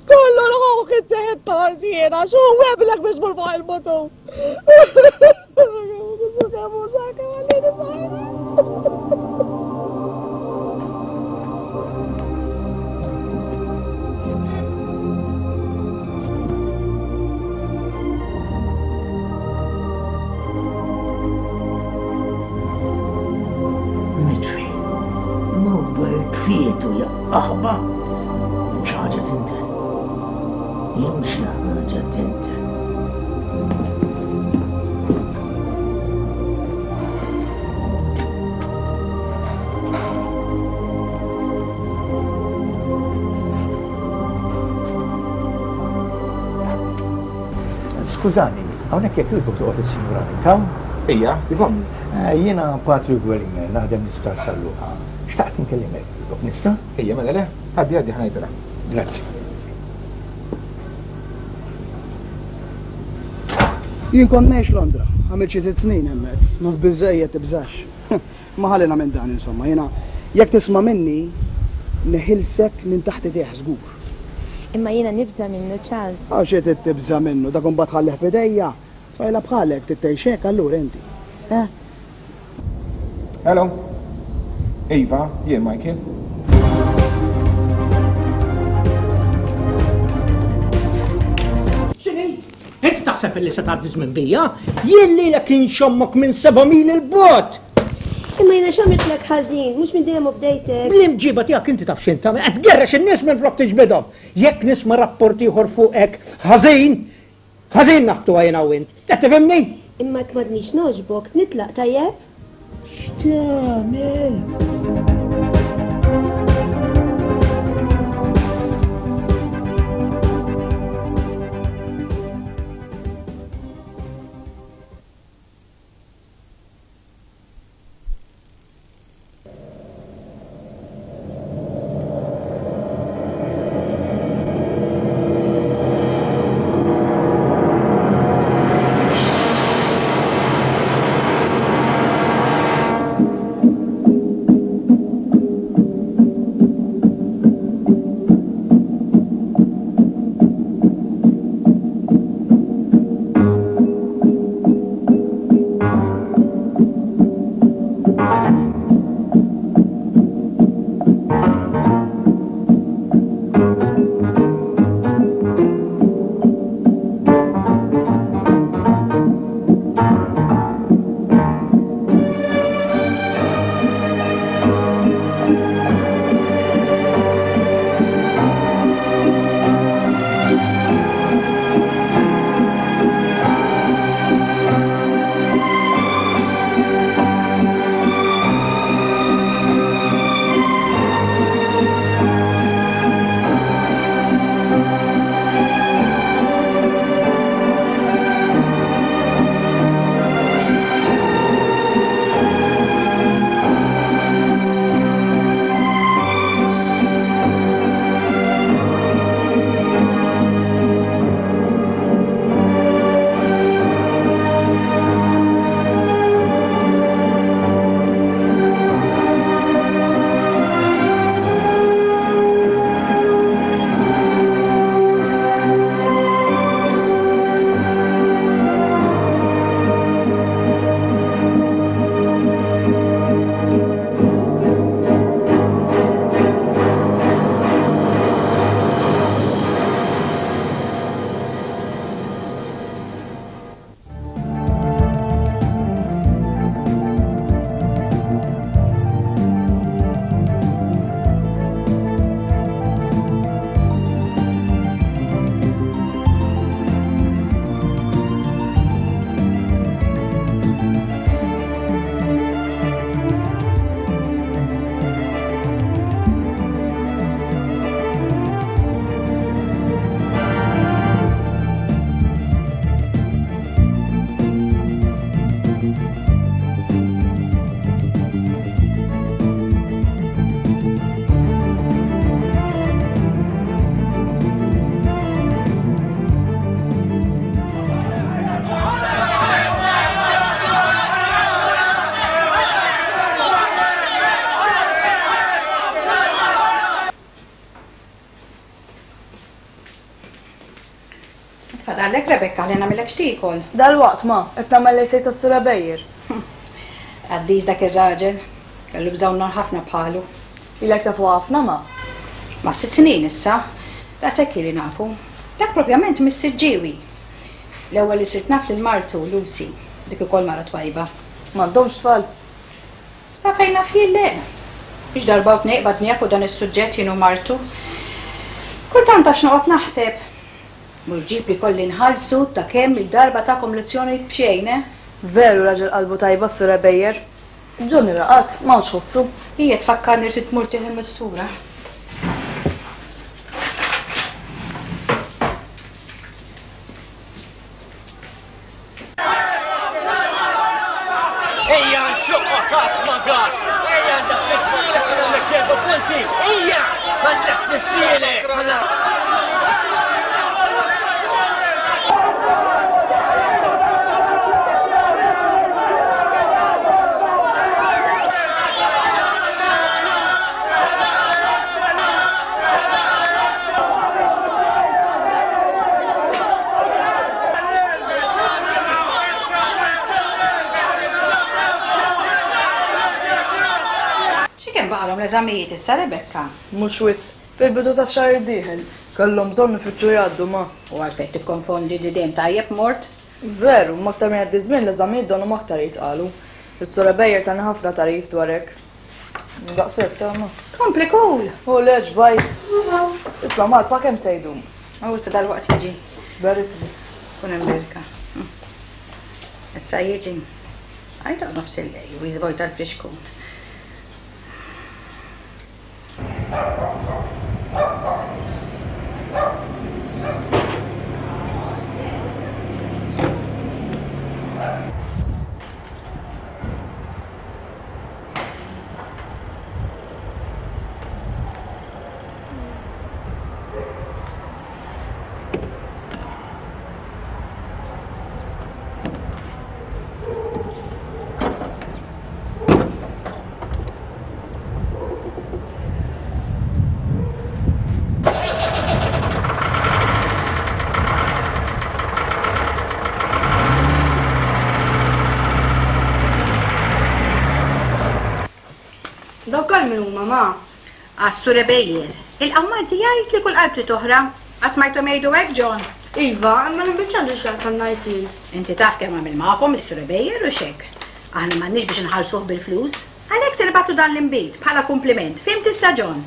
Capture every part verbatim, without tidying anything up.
Kollu l-ħuq inti tarżiena, xu weblek biex mur fuq il-mutu. Mitfi, mobile tfietu ja aħba. Xi ħaġa tinten. Jew xi ħaġa tinten. Skużani, hawnhekk jekk jogħġbok toqgħod is-Sinjura Nika? Ija, dik ommi. Eh, Jiena Patrick Wellinger, naħdem l-Isptar San Luqa. Xtaqt inkellimek, jogħġbok nista'? Ija, mela le, għaddi għaddi ħa ngħidilha. Grazzi. Jien kont ngħix Londra, għamilt xi sitt snin hemmhekk, naf biżejjed tibżax. Ma ħallina minn dan insomma, jiena jekk tisma' minni neħilsek minn taħt idejh żgur. Imma jiena nibża minnu Charles. Għax xi trid tibża' minnu, dak imbagħad ħallih f'idejja. Tfajla bħalek trid tgħix hekk allura inti. Eh? Hello. Iva, jien Michael. X'inhi? Inti taħseb illi se tgħaddi żmien bija? Jien lilek inxommok minn seba' mil il-bogħod. Imma jiena x'għamiltlek ħażin, mhux minn dejjem bdejtek. Bl-imġiba tiegħek inti taf x'int tagħmel, qed tgerrex in-nies minn flok tiġbidhom. Jekk nisma' rapport ieħor fuqek ħażin, ħażin naħtuha jiena u int. Qed tifhimni? Imma jekk m'għadnix nogħġbok, nitlaq tajjeb? X'tagħmel? Tfadallek Rebecca li nagħmilek x'tiekol. Dalwaqt ma, qed nagħmel lejsej tas-Sur Ebejer. Għaddiż dak ir-raġel, kellu bżonn nar ħafna bħalu. Ilek tafu ħafna ma? Ma sitt snin issa, daqshekk ili nafu. Dak propjament mis-Siġġiewi. L-ewwel li sirt naf lil martu Lucy, dik ukoll mara twajba. M'għandhomx tfal. Sa fejn naf jien le. Biex darba u tnejn qbadniha fuq dan is-suġġett jien u martu. Kultant għax noqgħod naħseb. Mur ġib li kolli nħallsu ta' kemm il-darba tagħkom lezzjoni b'xejn, eh? Veru raġel qalbu tajba s-Sur Ebejer. Johnny raqad, m'hawnx ħossu. Hija tfakkarni trid tmur tieħu mistura. Ejja nxuqqa kas magar! Ejja ndaffissielek ħa nagħmlek xi erba' punti! Ejja! Ma ndaffissielek! X'kemm baqalhom l-eżamijiet issa Rebecca? Mhux wisq, fil-bidu tax-xahar id-dieħel. Kellhom bżonn ifittxu jgħaddu ma. U għalfejn tikkonfondi li dejjem tajjeb mort? Veru, ma aktar minn jgħaddi żmien l-eżamijiet donhom aktar jitqalu. Is-Sur Ebejer tani ħafna tagħrif dwar hekk. Daqshekk ta' ma. Kompli kul! U leġ baj. Isma' Marpa kemm se jdum? U issa dalwaqt jiġi. Berikni. Kun hemm berka. Issa jiġi. Għajta nofs il-lejl u jiżvojta l-frixkun. Dawk għal min huma ma? Għas-Sur Ebejer. Il-qawmanti jgħid li kull qalb trid oħra. Qatt smajthom jgħidu hekk, John? Iva, imma l-imbiċċ għandu x'jaqsam ngħid jien. Inti taf kemm għamil magħkom is-Sur Ebejer u x'hekk. Aħna m'għandniex biex inħallsuh bil-flus. Għalhekk se nibgħatlu dan l-inbid bħala kumpliment. Fimt issa, John?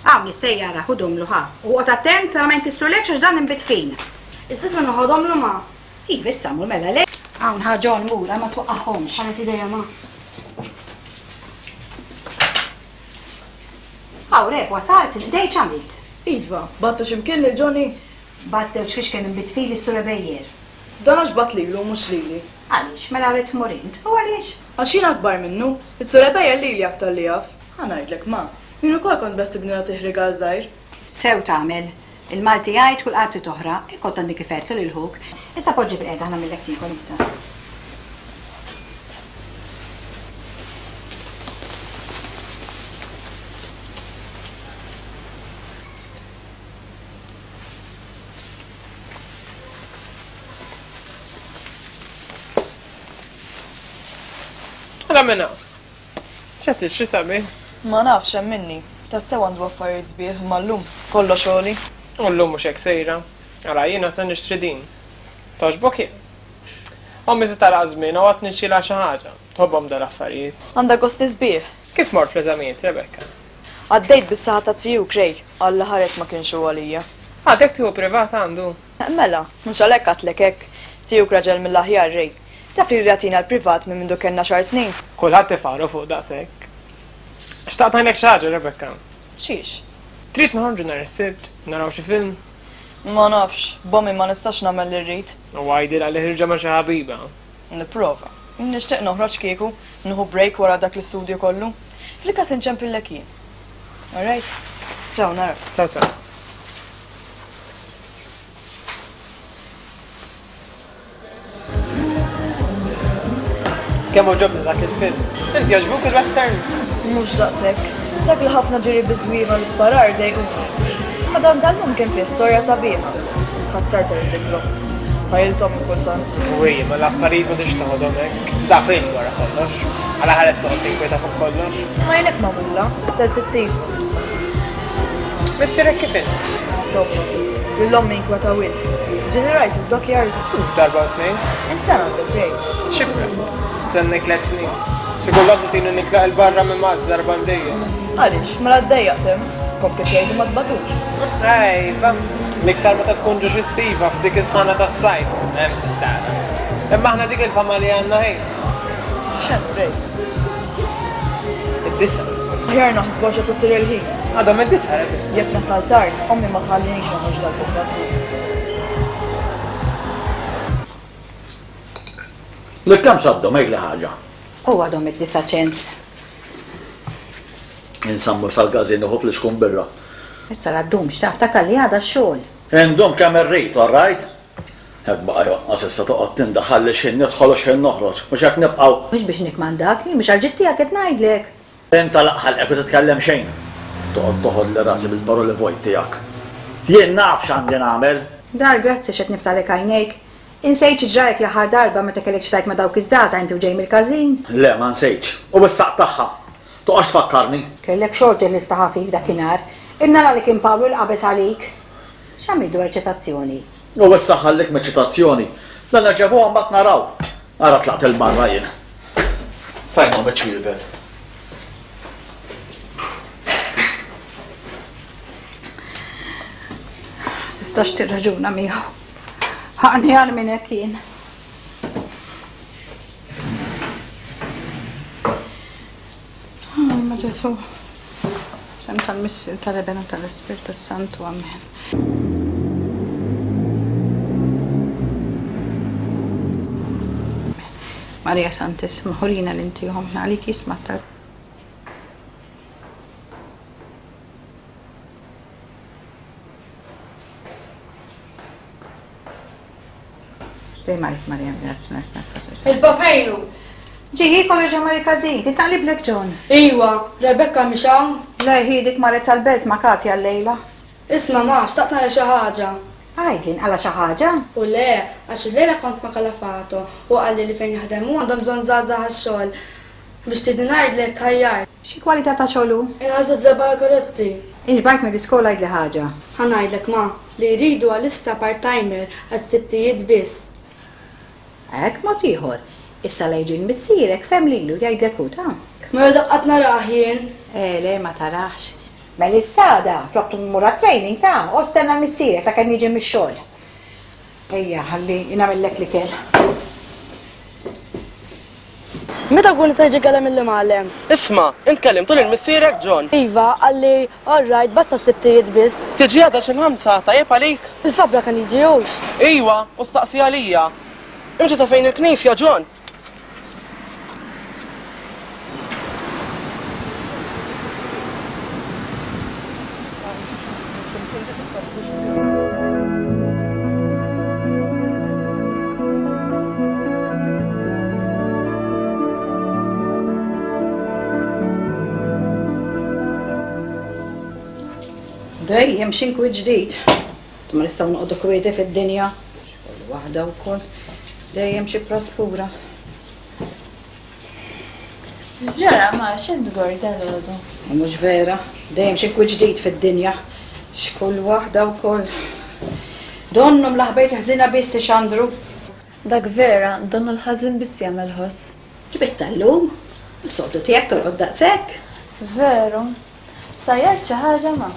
Hawn is-sejjara ħudhomlu ħa. U oqgħod attent ma jinkisrulekx għax dan inbid fin. Issa se noħodhomlu ma. Iva, issa mur mela le. Hawn ħa John mur, ma twaqqahomx. Ħaret idejja ma. Hawn rek wasalt, il-dej x'għamilt? Iva, battu x'imkien lil Johnny? Bat żewġ fixken inbid fil is-Sur Ebejer. Dan għax bat lilu mhux lili. Għaliex, mela rrid tmur int, u għaliex? Għax jien akbar minnu, is-Sur Ebejer lili aktar li jaf. Ħa ngħidlek ma, jien ukoll kont beħsibni nagħtih rigal żgħir. Sew tagħmel. Il-Malti jgħid kull qalb trid oħra, hekk kont għandi kif għedtlu lil ħuk. Issa poġġi bil-qiegħda ħa nagħmillek tiekol issa. Għala minna. ċ'qed tixtri sabi? Ma nafx hemm minni. Tassew għandu affarijiet sbieħ imma llum kollox għoli. U llum mhux hekk sejra. Għala jiena se nixtri din. Togħġbok jien. Ommi se tara żmien u għad nixxilha xi ħaġa. Tħobbhom dal-affarijiet. Għandha gosti sbieħ. Kif mort fl-eżamijiet, Rebecca? Għaddejt bis-saħħa ta' zijuk Ray, Alla ħares ma kienx hu għalija. Għadek tieħu privat għandu? Mela, mhux għalhekk għadtlek hekk. Zijuk raġel mill-aħjar Ray. Taf li jagħtina l-privat minn mindu kellna xar snin. Kulħadd ifaru fuq daqshekk. Xtaqt ngħidlek xi ħaġa, Rebecca. Xiex? Trid noħorġu nhar is-Sibt, naraw xi film? Ma nafx, bommi ma nistax nagħmel li rrid. U għajdilha li ħirġa ma' xi ħabiba. Nipprova. Nixtieq noħroġ kieku, nieħu break wara dak l-istudju kollu. Fil-każ inċempillek jien. All right? Ciao, nara. Ciao, ciao. Kemm għoġobni dak il-film. Inti għoġbuk il-westerns? Mhux daqshekk. Dak li ħafna ġiri biżwieħ u l-isparar dejquni. Imma dan tal-lum kien fih storja sabiħa. Tħassart ir-ridiklu. Stajlthom kultant. Wi, ma l-affarijiet ma tix toħodhom hekk. Da film wara kollox. Għala ħares toqgħod tinkweta fuq kollox. Ma jien hekk magħmula, sensittiva. Missierek kif int? Insomma, lil ommi inkweta wisq. Ġieli rajtu d-dockyard. Mhux darba u tnejn. Is-sena għandu break. Xi break? Stenni tliet snin. Xi kultant tini nitlaq 'il barra minn Malta darba għal dejjem. Għaliex, mela ddejjaqt hemm, skont kif jgħidu ma tbatux. Ejva, l-iktar meta tkun ġo xi stiva f'dik is-sħana tas-sajf. Hemm tara. Imma aħna dik il-fama li għandna ħin. X'hemm break? Id-disa. Aħjar naħsbu għax qed isir il-ħin. Għadhom id-disa, Rebecca. Jekk nasal tard, ommi ma tħallinix noħroġ dal-bokka żgur. Li kemm saddhom għidli ħaġa? U għadhom id-disa ċens. Insammu sal-gazin uħu fl-iskun birra. Issa la ddumx taf ta' kalli għada x-xogħol. Indum kemm irrid, all right? Hekk baqa' jonqos issa toqgħod tindaħal li x'ħin nidħol u x'ħin noħroġ, mhux hekk nibqgħu. Mhux biex nikmandak, jien mhux għal-ġid tiegħek qed ngħidlek. Int għalaq ħalqek u titkellem xejn. Toqgħod toħodli rasi bil-paroli vojt tiegħek. Jien naf x'għandi nagħmel. Dar grazzi x'qed niftalek għajnejk. Insejt xi ġrajek l-aħħar darba meta kellek xi tgħid ma' dawk iż-żgħażagħ inti u ġej mill-każin? Le, ma nsejtx. U issa qtagħha. Toqgħodx tfakkarni. Kellek xorti li sta ħafif dakinhar. Imnara li kien Pawlu l-qabeż għalik. X'għamilt dwar ċitazzjoni? U issa ħallik me ċitazzjoni. Dan nerġavuha mbagħad naraw. Ara tlaqt il-barra jien. Fejn huma ċ-ċwiebel? Tistax tirraġuna miegħu. Ħaqni għal minn hekk jien. Ma Ġesu, sem tal-Missier, tal-Eben u tal-Ispirtu Santu, amen. Marija Santissima, ħurina l-inti ommna għalik jisma' tal. Stej Marik Marija, grazzi, grazzi, grazzi. Il-bafejnu! Ġi, kollu ġa Mari Kazin, ti taqliblek John. Iwa, Rebecca mhix hawn? Le, hi dik marret tal-belt ma' Katja llejla. Isma' ma, xtaqt nara xi ħaġa. Għidli, nqala xi ħaġa? U le, għax illejla kont ma' Kalafato u qalli li fejn jaħdem hu għandhom bżonn żgħażagħ għax-xogħol. Biex tgħidli ngħidlek tħajjar. Xi kwalità ta' xogħol hu? Inħallsu ż-żebgħa għall-karozzi. Inxbajt mill-iskola għidli ħaġa. Ħa ngħidlek ma, li jridu għalissa part-timer għas-sittijiet biss. Hekk mod ieħor. Issa la jiġi missierek fem lilu jgħidlek hu ta'. Ma dak qatt narah jien. Eh, le ma tarax. Mela issa flok tmur training ta' u stenna l-missierek sakemm jiġi mix-xogħol. Ejja, ħalli nagħmellek l-ikel. Meta kun se jiġi kellem il-imgħallem? Isma', int kellimtu lil missierek John. Iva, qalli all right, basta s-sibtijiet biss. Tiġi għada xi l-ħamsa, tajjeb għalik? Il-fabra kan jiġi hux. Iwa, u staqsi għalija. Imxi sa fejn il-knisja, John. Dejjem xi nkwiet ġdid. Ma nistgħu noqogħdu kwieti fid-dinja. Xogħol waħda wkoll. Dejjem xi praspura. X'ġara ma x'int tgor dalgħodu? Mhux vera, dejjem xi nkwiet ġdid fid-dinja. X'kull waħda wkoll. Donnu mlaħbejt ħżina biss ixandru. Dak vera, donnu l-ħażin biss jagħmel ħoss. Ġbit tal-lum, is-soltu tiegħek torqod daqshekk. Veru. Sajjart xi ħaġa ma?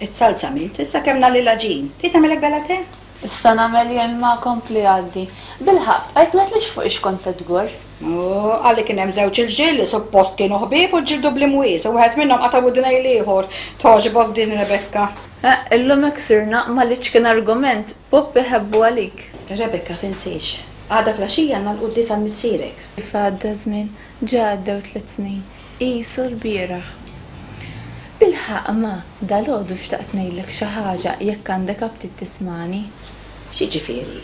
It-salza għamilt, issa kemm nagħli l-għaġin. Trid nagħmilek bella te? Issa nagħmel jien ma kompli għaddi. Bilħaqq, bqajt ma tlix fuq ix kont qed tgorr. U qalli kien hemm żewġ irġiel li suppost kienu ħbieb u ġġieldu bl-imwies u wieħed minnhom qata' widnejn l-ieħor. Togħġbok din Rebecca. Eh, illum hekk sirna ma litx kien argument, Pupp iħebbu għalik. Rebecca tinsiex. Għada flaxija għandna l-quddies għal missierek. Kif għadda żmien, ġa għaddew tliet snin. Qisu l-bieraħ. Bilħaqq ma, dalgħodu xtaqt ngħidlek xi ħaġa jekk għandek aptit tismani. X'jiġifieri?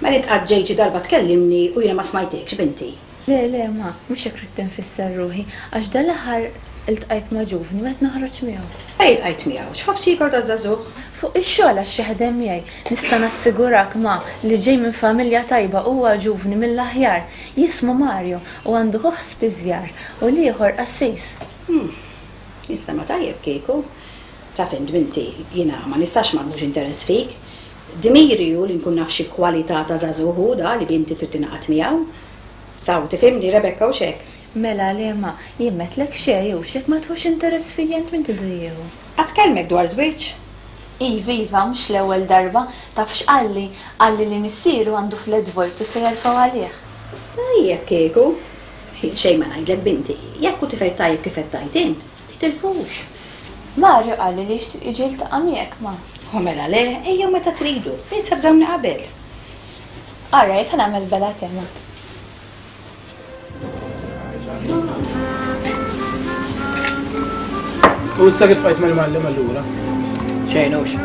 Mela int qatt ġejt xi darba tkellimni u jiena ma smajtekx, binti. Le, le, ma, mhux hekk ridt infisser ruħi, għax dal-aħħar iltqajt ma' ġuvni meta noħroġ miegħu. Ej iltqajt miegħu, x'ħobż jiekol daż-żagħżugħ? Fuq ix-xogħol għax jaħdem miegħi. Nista' nassigurak ma li ġej minn familja tajba huwa ġuvni mill-aħjar. Jismu Mario u għandu ħuh spiżjar u l-ieħor qassis. Hmm. Jinstema' tajjeb kieku. Taf int binti, jiena ma nistax ma nħux interess fik. Dmiri hu li nkun naf xi kwalità ta' żagħżugħ hu da li binti trid tingħaqad miegħu. Saw, tifhimni Rebecca hux hekk? Mela le ma, jien m'għedtlek xejn hux jekk ma tħux interess fija int min tridu jieħu? Qatt kellmek dwar żwieġ? Iva, iva, mhux l-ewwel darba. Taf x'qalli? Qalli li missieru għandu flat vojt u se jerfgħu għalih. Tajjeb kieku. Jien xejn ma ngħidlek binti, jekk hu tifel tajjeb kif qed tgħid int, titilfux. Mario qalli li jixtieq jiġi jiltaqa' miegħek, ma. U mela le, ejjew meta tridu, biss avżawni qabel. All right, ħa nagħmel bela tema. U issa kif bqajt mal-imgħallem allura? Xejn hux.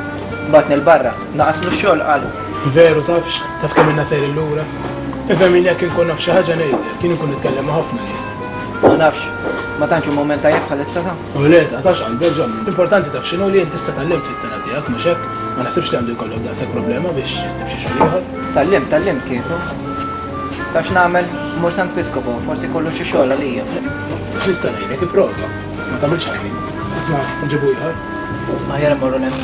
Bagħatni 'l barra. Naqaslu x-xogħol qalu. Veru tafx, taf kemm ilna sejrin lura. Ifhem jien jekk inkun naf xi ħaġa ngħidlek, jien inkun nitkellem ma' ħafna nies. Ma nafx, ma tantx hu mument tajjeb bħalissa ta. U le, taqtax qalbek Ġanni. L-importanti taf x'inhu li int issa tgħallimt fis-sena tiegħek, mhux hekk? Ma naħsibx li għandu jkollok daqshekk problema biex issib xi xogħol ieħor. Tgħallimt, tgħallimt kieku. Taf x'nagħmel? Mmur Sant Piscopo, forsi jkollu xi xogħol għalija. X'nista' ngħidlek, ipprova. Ma tagħmilx ħażin. Isma' nġibu ieħor. Aħjar immorru hemm.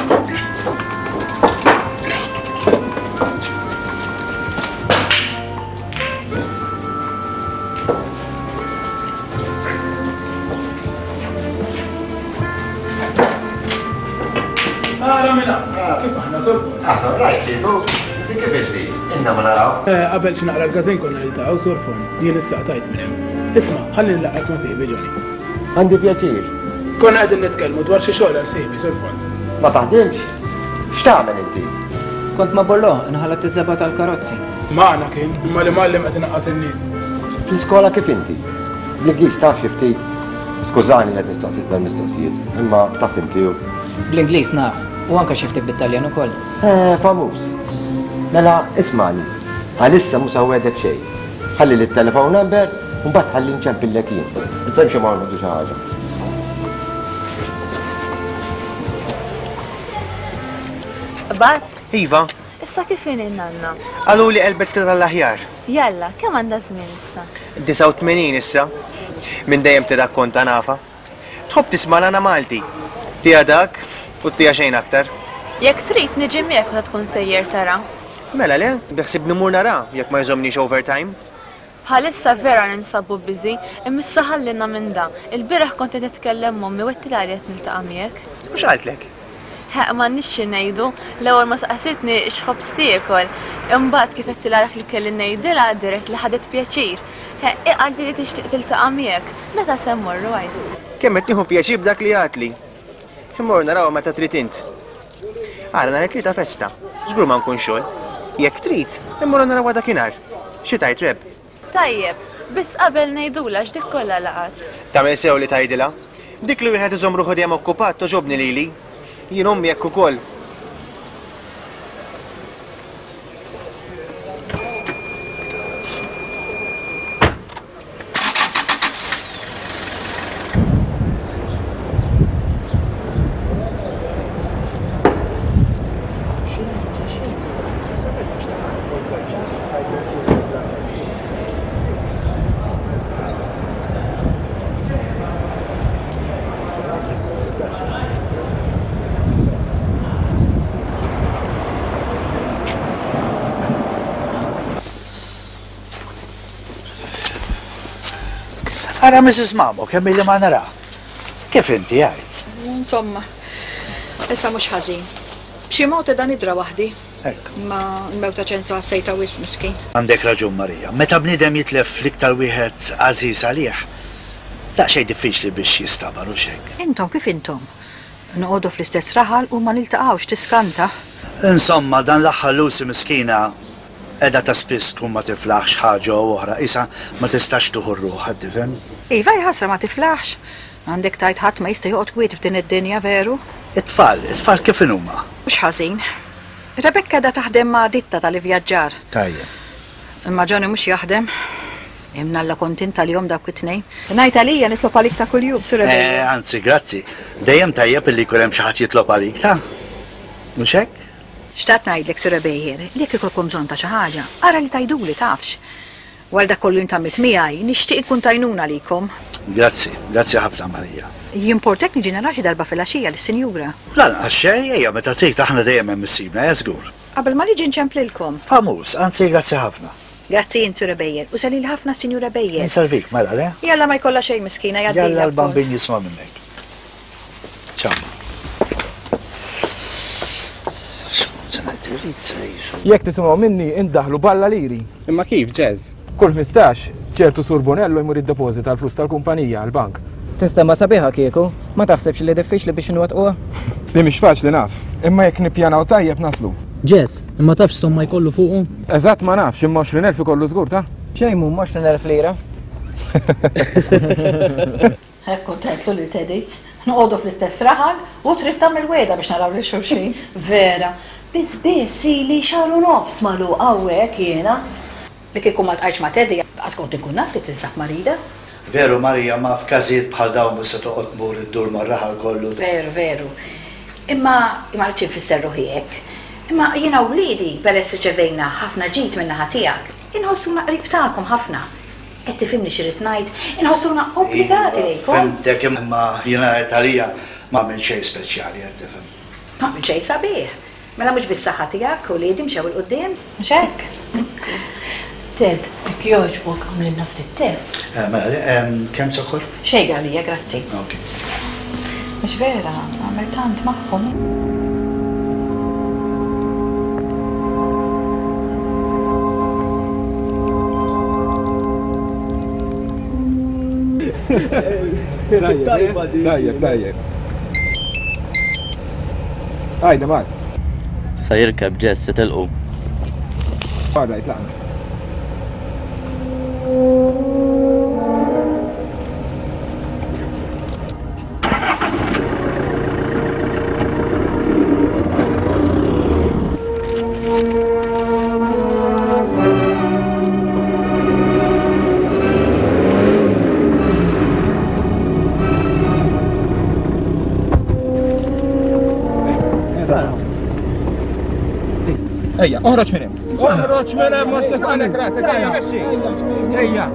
Ara minn hawn. Kif aħna, Sur Fons? Aħna rajt, kieku. Inti kif inti? Inna ma naraw. Eh, qabel xi naqra l-każin konna niltaqgħu, Sur Fons. Jien issa qtajt minn hemm. Isma', ħalli nlaqqgħek ma' sieħbi Johnny. Għandi pjaċir. Konna qegħdin nitkellmu dwar xi xogħol għal sieħbi, Sur Fons. Ma taħdimx? X'tagħmel inti? Kont ma' Bollò, inħallat iż-żebgħa tal-karozzi. Magħna kien, imma l-imgħallem qed inaqqas in-nies. Fl-iskola kif inti? Bl-Ingliż taf xi ftit? Skużani li qed nistaqsik dal-mistoqsijiet, imma taf inti u. Bl-Ingliż naf, u anke xi ftit bit-Taljan ukoll. Eh, famuż. Mela, ismagħni. Għalissa mhux se nwegħdek xejn. Ħalli lit-telephone number u mbagħad ħalli nċempillek jien. Issa nimxu ma' xi ħaġa. Qbadt? Iva. Issa kif inhi n-nanna? Qaluli qelbet ftit għall-aħjar. Jalla, kemm għandha żmien issa? Disgħa u tmenin issa. Minn dejjem tirrakkonta nafha. Tħobb tisma' l-għana Malti. Tiha dak u tiha xejn aktar. Jekk trid niġi miegħek meta tkun sejjer tara. Mela le, beħsibni mmur nara jekk ma jżommnix overtime. Bħalissa vera ninsabu busy, imma issa ħallina minn da. Il-bieraħ kont qed nitkellem m'ommi u għedtilha li qed niltaqa' miegħek. U x'qaltlek? Ħeq m'għandniex xi ngħidu, l-ewwel ma saqsitni x'ħobż tiekol. Imbagħad kif għedtilha dak li kelli ngħidilha dirett li ħadet pjaċir. Ħeq, hi qaltli li tixtieq tiltaqa' miegħek. Meta se mmorru għid? Kemm qed nieħu pjaċir b'dak li għadtli. Immorru narawha meta trid int. Ara nhar it-Tlieta festa, żgur ma nkun xogħol. Jekk trid, immorru narawha dakinhar. Xi tgħid Reb? Tajjeb, biss qabel ngħidulha x'dik kollha laqgħet. Tagħmel sew li tgħidilha. Dik li wieħed iżomm ruħu dejjem okkupat togħġobni lili. Jien ommi hekk ukoll. Ara Missus Mamo, kemm illi ma nara. Kif inti għajt? Insomma, issa mhux ħażin. B'xi mod qiegħda nidra waħdi. Hekk. Ma l-mewta Ċensu ħassejtha wisq miskin. Għandek raġun Marija. Meta bniedem jitlef l-iktar wieħed għażiż għalih, daqsxejn diffiċli biex jistabar u x'hekk. Intom kif intom? Noqogħdu fl-istess raħal u ma niltaqgħux tiskanta. Insomma, dan l-aħħar Lucy miskina qiegħda ta' spiss tkun ma tiflaħx ħaġa u oħra, qisha ma tistax tuħu r-ruħ, qed tifhem? Iva, hi ħasra ma tiflaħx. Għandek tgħid ħadd ma jista' joqgħod kwiet f'din id-dinja, veru? It-tfal, it-tfal kif inhuma? Mhux ħażin. Rebecca qiegħda taħdem ma' ditta tal-ivvjaġġar. Tajjeb. Imma Johnny mhux jaħdem. Imnalla kontent tal-jom dawk it-tnejn. Ngħid għalija nitlob għalik ta' kuljum, Sur Rebecca. Eh, anzi, grazzi. Dejjem tajjeb illi jkun hemm xi ħadd jitlob għalik, ta? Mhux hekk? Xtaqt ngħidlek, Sur Ebejer, li jekk ikolkom bżonn ta' xi ħaġa, ara li tgħiduli tafx. Wara dak kollu li int għamilt miegħi, nixtieq inkun t'għajnuna għalikom. Grazzi, grazzi ħafna Marija. Jimportek niġi nara xi darba filgħaxija lis-sinjura? Lanqas xejn, ejja meta trid aħna dejjem hemm issibna, eh żgur. Qabel ma niġi nċemplilkom. Famuż, anzi grazzi ħafna. Grazzi int Sur Ebejer, u sellili ħafna s-Sinjura Ebejer. Inservik, mela le? Jalla ma jkollha xejn miskina, jgħaddilha Jalla wkoll. l-bambin jisma' minnek. Ciao. Jekk tisimgħu minni indaħlu balla liri. Imma kif, Ġeż? Kull ħmistax, ċertu Sur Bonello jmur iddepożita l-flus tal-kumpanija għall-bank. Tinstema' sabiħa kieku, ma taħsibx li diffiċli biex inwettquha? Li mhix faċli naf, imma jekk nippjanaw tajjeb naslu. Ġeż, imma tafx somma jkollu fuqu? Eżatt ma nafx, imma għoxrin elf ikollu żgur ta'. Xejn mhum għoxrin elf lira. Hekk kont għedtlu lil Teddy, noqogħdu fl-istess raħal u trid tagħmel wegħda biex naraw lil xulxin. Vera, biss biss ili xahar u nofs magħluqa hawnhekk jiena. Li kieku ma ltqajtx ma' Teddy, qas kont inkun naf li tinsab marida. Veru Marija, ma f'każijiet bħal dawn mhux se toqgħod tmur iddur mar-raħal kollu. Veru, veru. Imma ma rridx infisser ruħi hekk. Imma jiena u wliedi, peress riċevejna ħafna ġid min-naħa tiegħek, inħossuna qrib tagħkom ħafna. Qed tifhimni xi rrid ngħid? Inħossuna obbligati lejkom. Fhimtek imma jiena qed għalija ma għamilt xejn speċjali qed tifhem. Ma għamilt xejn sabiħ. Mela mhux bis-saħħa tiegħek uliedi mxew 'il quddiem, mhux hekk? Ted, jekk jogħġbok għamlilna ftit te. Eh, mela, ehm, kemm zokkor? Xejn għalija, grazzi. Ok. Mhux vera, għamel tant magħhom. Tajjeb, tajjeb. Għajda, Mark. Sa jirkeb Ġess jitilqu. Għada, jitlaqna. Ejja, oħroġ minn hemm. Oħroġ minn hemm mhux nifqalek rasek, ejja, mexxi. Ejja.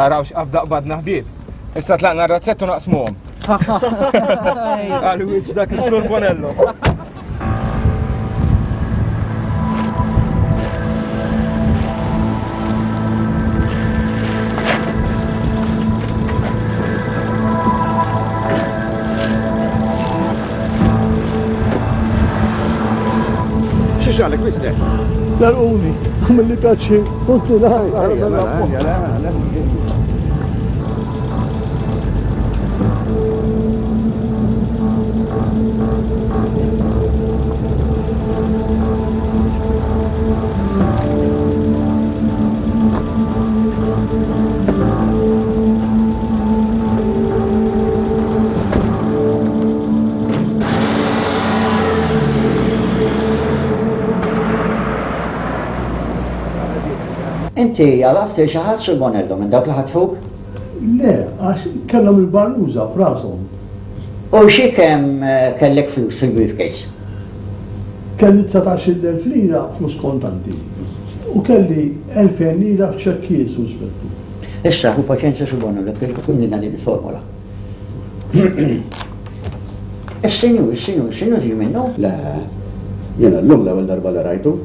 Araw x'qabda qbadna ħbieb. Issa tlaqna r-razzett u naqsmuhom. Għal wiċċ dak is-Sur Bonello. Xi ġralek mister? Sarquni, għamilli pjaċir, kont Inti għaraft xi ħadd Sur Bonello minn dawk li ħatfuk? Le, għax kellhom il-barnuża f'rashom. U xi kemm kellek flus fil-briefcase? Kelli dsatax-il elf lira flus kontanti u kelli elfejn lira f'ċekkijiet, Sur Spettur. Issa, hu paċenzja Sur Bonello, kif imlina din il-formola. Is-sinjur, is-sinjur, is-sinjur ġie minnu? Le, jiena llum l-ewwel darba li rajtu.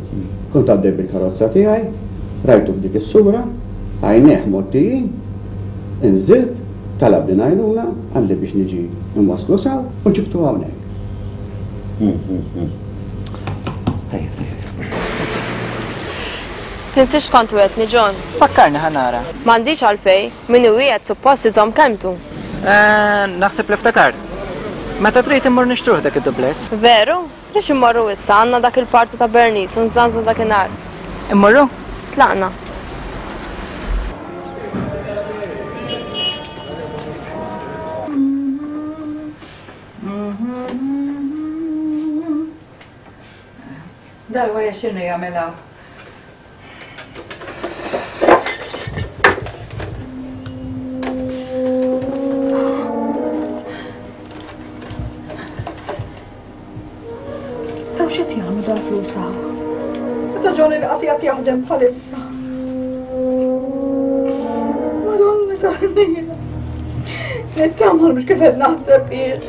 Kont għaddej bil-karozza tiegħi Rajtu f'dik is-sura, għajnejh mgħottijin, inżilt, talabni ngħajnuna, qalli biex niġi nwasslu s'hawn u ġibtu hawnhekk. Tajjeb, tajjeb. Tinsiex kont wegħedtni, John. Fakkarni ħa nara. M'għandix għalfejn, min iwiegħed suppost iżomm kelmtu. Eh, naħseb li ftakart. Meta trid immur nixtruh dak id-dublett. Veru? Lix immorru issa għandna dak il-party ta' Bernice u nżanżu dakinhar. Immorru? Tlaqna. Dal-wara x'inhu jagħmel hawn? Daw x'qed jagħmlu dal-flus hawn? Meta Johnny li qas qiegħed jaħdem bħalissa. Madonna ta' ħnina. Nittama mhux kif qed naħseb jien.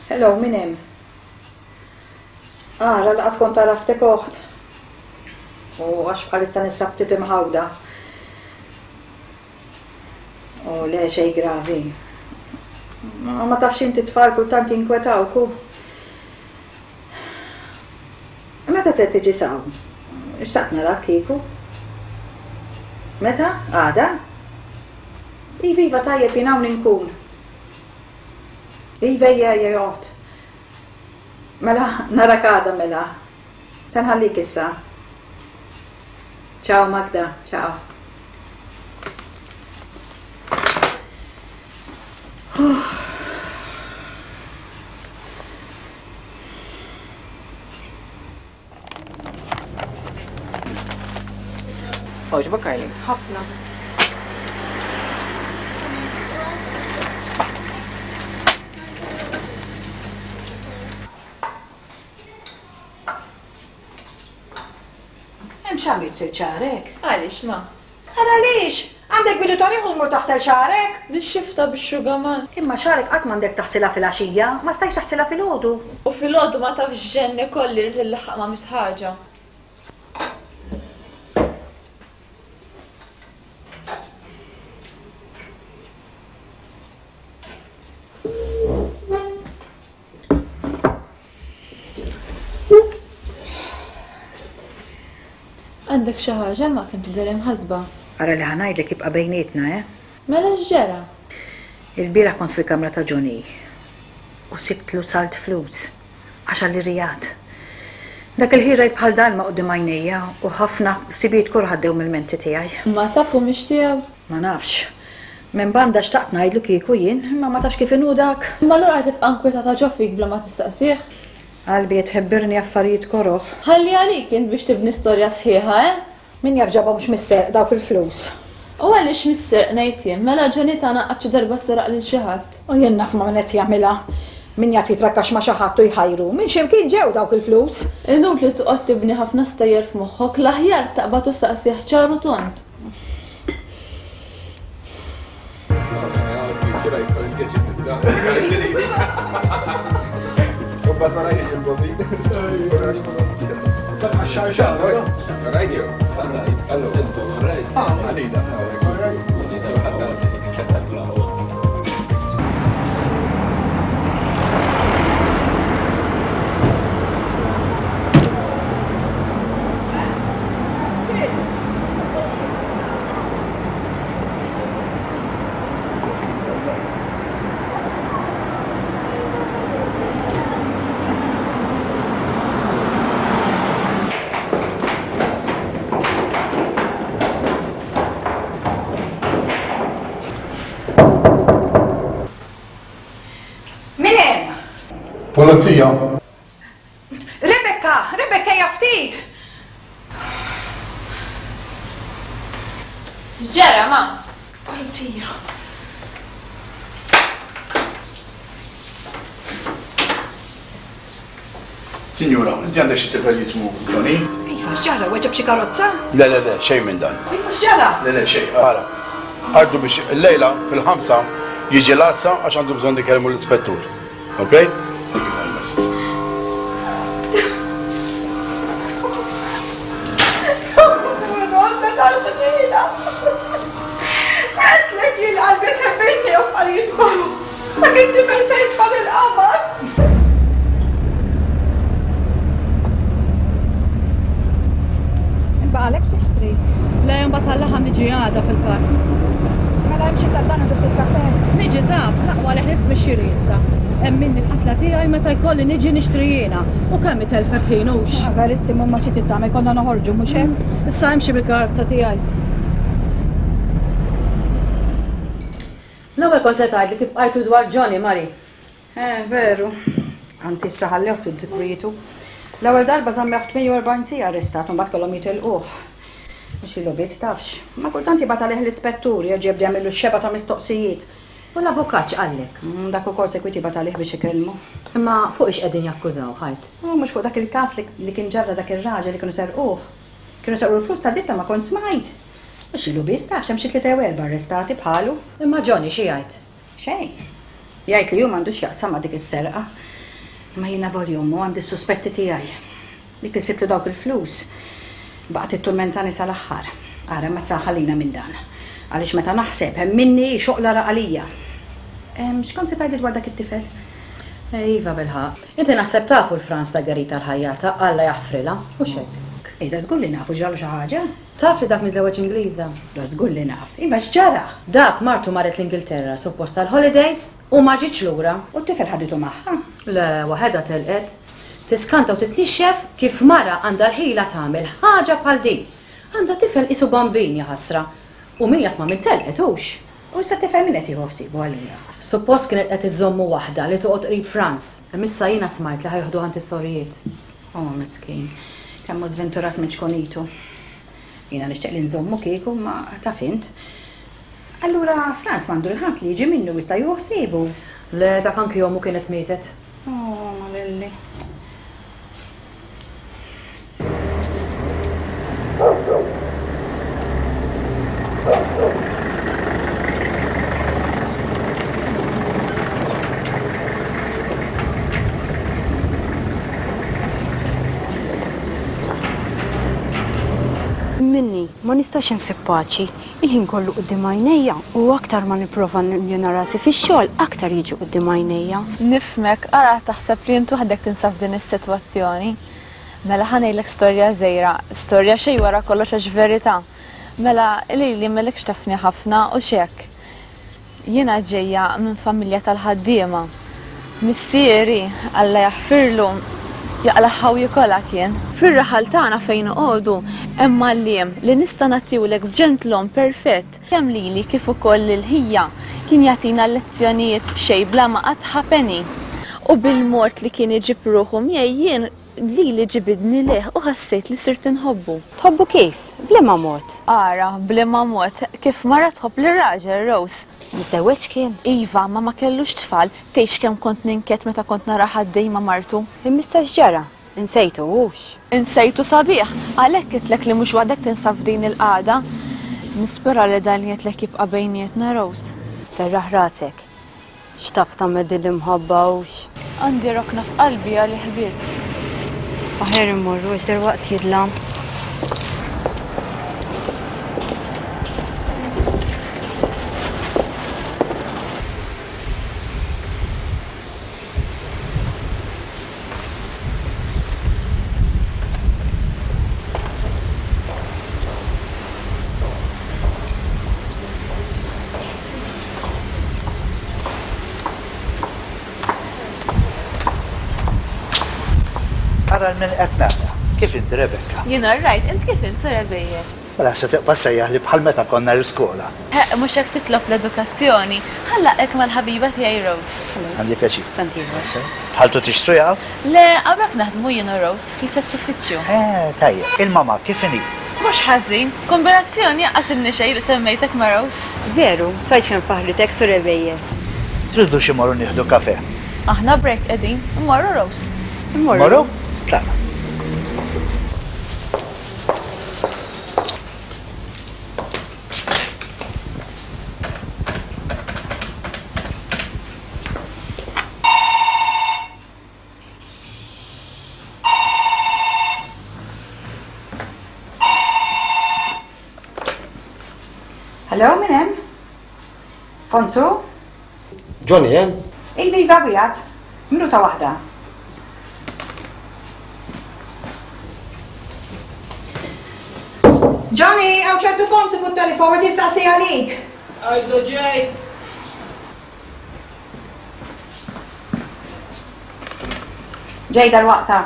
Hello, min hemm? Ara, laqas kont għaraftek oħt. U għax bħalissa ninsab ftit imħawda. U le xejn gravi. Ma, ma tafx inti tfal kultant jinkwetawk u. Meta se tiġi s'hawn? Xtaqt narak kieku. Meta? Għada? Iva, iva, tajjeb jien hawn inkun. Iva, ejja, ejja, joqgħod. Mela, narak għada mela. Se nħallik issa. Ciao Magda, ciao. Għoġbok, Kylie? Ħafna. Hemm x'għamilt sil xagħrek? Għaliex ma? Ara għaliex? Għandek bidu ta' ieħor mur taħsel xagħrek? Nixxifta bix-xugaman. Imma xagħrek qatt m'għandek taħsilha filgħaxija, ma stajtx taħsilha filgħodu. U filgħodu ma tafx ġenni kolli rrid illaħħaq ma' mitt ħaġa. Għandek xi ħaġa ma kemm tidher imħassba? Ara li ħa ngħidlek jibqa' bejnietna, eh? Mela x'ġara? Il-bieraħ kont fil-kamra ta' Johnny u sibtlu salt flus għax għall-irijat. Dak il-ħin rajt bħal dalma quddiem għajnejja u ħafna ħsibijiet koroh għaddew mill-menti tiegħi. Ma tafu mhix tiegħu? Ma nafx. Minn banda xtaqt ngħidlu kieku jien, imma ma tafx kif inhu dak. Imma allura tibqa' nkwetata ġo fik bla ma tistaqsih? Qalbi qed tħebbirni affarijiet koroh. Ħalli għalik int biex tibni storja sħiħa, eh? Min jaf ġabhomx mis-serq dawk il-flus. U għaliex mis-serq ngħid jien, mela Johnny tagħna qatt xi darba seraq lil xi ħadd. U jien naf ma' min qed jagħmilha. Min jaf jitrakkax ma' xi ħadd u jħajru. Minn xi mkien ġew dawk il-flus. Inutli toqgħod tibni ħafna stejjer f'moħħok, l-aħjar taqbad u staqsih ċar u tond. Polizija. Rebecca, Rebecca hija ftit. X'ġara, ma? Polizija. Signora, inti għandek xi tifel jismu Johnny? Iva, Iva, x'ġara, weġġa' b'xi karozza? Le, le, le, xejn minn dan. Iva, x'ġara? Le, le, xejn, ara. Għaddu biex illejla fil-ħamsa jiġi l-għassa għax għandu bżonn ikellmu l-ispettur. Ok? Thank you very much. Madonna tal-ħnina! Għedtlek jien qalbi tħebbinni u f'qaljiet kollu. Ma kien tifel se jitfa' lill-qamar. Baqalek x'tixtri? Le, mbagħad għall-laħam niġi għada fil-każ. Mela imxi sa dan ftit kafè. Niġi taf, l-aqwa li ħlist mix-xiri issa. Hemm minni l-qatla tiegħi meta jkolli niġi nixtri jiena. U kemm itelfek ħin hux. Ah, Verissimu ma xi titgħamel konna noħorġu mhux hekk? Issa imxi bil-karozza tiegħi. L-ewwel kont se tgħidli kif bqajtu dwar Johnny, Mari. Eh, veru. Anzi issa ħallew ftit dikwietu. L-ewwel darba żammew tmien u erbgħin siegħa arrestat u mbagħad kellhom jitilquh. Mhux ilu biss tafx. Ma kultant jibgħat għalih l-ispettur jerġa' jibda jagħmillu xebgħa ta' mistoqsijiet. U l-avukat x'qallek? Mm, Dak ukoll sekwit jibgħat għalih biex ikellmu. Imma fuq ix qegħdin jakkużaw ħajt? U mhux fuq dak il-każ li, li kien ġarra dak ir-raġel li kienu serquh. Kienu serqu l-flus ta' ditta ma kont smajt. Mhux ilu biss tafx hemm xi tlieta jew erba' arrestati bħalu. Imma Johnny xi jgħid? Xejn. Jgħid li hu m'għandux x'jaqsam ma' dik is-serqa. Imma jiena voljumu għandi s-suspetti tiegħi. Dik li sibtlu dawk il-flus baqgħet itturmentani sal-aħħar. Ara ma sa ħallina minn dan. Għaliex meta naħseb hemm minni xoqla raqalija. Em, X'kont se tgħidli dwar dak it-tifel? Iva bilħaqq. Inti naħseb tafu l-Frans ta' Garita l-ħajjata, Alla jaħfrilha, hux hekk? Ej, da żgur li nafu ġralu xi ħaġa. Taf li dak miżewweġ Ingliża? Da żgur li naf. Iva x'ġara? Dak martu marret l-Ingilterra suppost tal-holidays u ma ġietx lura. U t-tifel ħaditu magħha? Le, waħedha telqet. Tiskanta u titnixxef kif mara għandha l-ħila tagħmel ħaġa bħal din. Għandha tifel qisu bambin ja ħasra. U min jaf ma' min telqet hux. U issa t-tifel min qed jieħu ħsiebu allura? Suppost kienet qed iżommu waħda li toqgħod qrib Frans. Imma issa jiena smajt li ħa joħduha għand is-sorijiet. Oh, miskin. Kemm hu żventurat minn ċkunitu. Jiena nixtieq li nżommu kieku ma taf int. Allura Frans m'għandu l-ħadd li jiġi minnu jista' jieħu ħsiebu. Le, dak anki ommu kienet mietet. Oh, ma lilli. Minni, ma nistax insib paċi. Il-ħin kollu quddiem għajnejja u aktar ma nipprova njena rasi fix-xogħol aktar jiġu quddiem għajnejja. Nifhmek, ara taħseb li int waħdek tinsab f'din is-sitwazzjoni. Mela ħa ngħidlek storja żgħira, storja xejn wara kollox għax verità. Mela lili m'ilekx tafni ħafna u x'hekk. Jiena ġejja minn familja tal-ħaddiema. Missieri, Alla jaħfirlu, jaqlaħħa u jikolha kien. Fir-raħal tagħna fejn noqogħdu hemm għalliem li nista' nagħtiwlek b'ġentlom perfett. Kemm lili kif ukoll lil ħija kien jagħtina lezzjonijiet b'xejn bla ma qatt ħa penny. U bil-mort li kien iġib ruħu miegħi jien lili ġibidni leh u ħassejt li sirt inħobbu. Tħobbu kif? B'liema mod? Ara, b'liema mod, kif mara tħobb lir-raġel Rose. Miżewweġ kien? Iva, ma ma kellux tfal, tgħix kemm kont ninket meta kont nara ħaddej ma' martu. Imma issa x'ġara? Insejtu hux? Insejtu sabiħ, għalhekk għedtlek li mhux waħdek tinsab f'din il-qagħda. Nispera li dan li għedtlek jibqa' bejnietna, Rose. Serraħ rasek. X'taf tagħmel din l-imħabba hux? Għandi rokna f'qalbi għalih biss. Aħjar immorru għax derwaqt jidlam. Ara l-min qed nara. Kif inti, Rebecca? Jiena rajt, int kif int, Sir Ebejer? Mela se tibqa' sejjaħ li bħal meta konna l-iskola. Ħeq, mhux hekk titlob l-edukazzjoni. Ħallaqek mal-ħabiba tiegħi Rose. Għandi pjaċir. Tant ieħor. Bħaltu tixtru jaw? Le, hawnhekk naħdmu jien u Rose fl-istess uffiċċju. Eh, tajjeb. Il-mama kif inhi? Mhux ħażin. Kombinazzjoni jaqqas ilni xejn li semmejtek ma' Rose. Veru, tgħidx kemm faħritek, Sur Ebejer. Tridu xi morru nieħdu kafe? Aħna break qegħdin, immorru Rose. Immorru. Morru? Tlaqna. Hello, min hemm? Fonzu? Johnny hemm? Iva, iva, qiegħed. Minuta waħda. Johnny, hawn ċertu Fonzu fuq telefon qed jistaqsi għalik. Għidlu ġej. Ġej dal-waqta.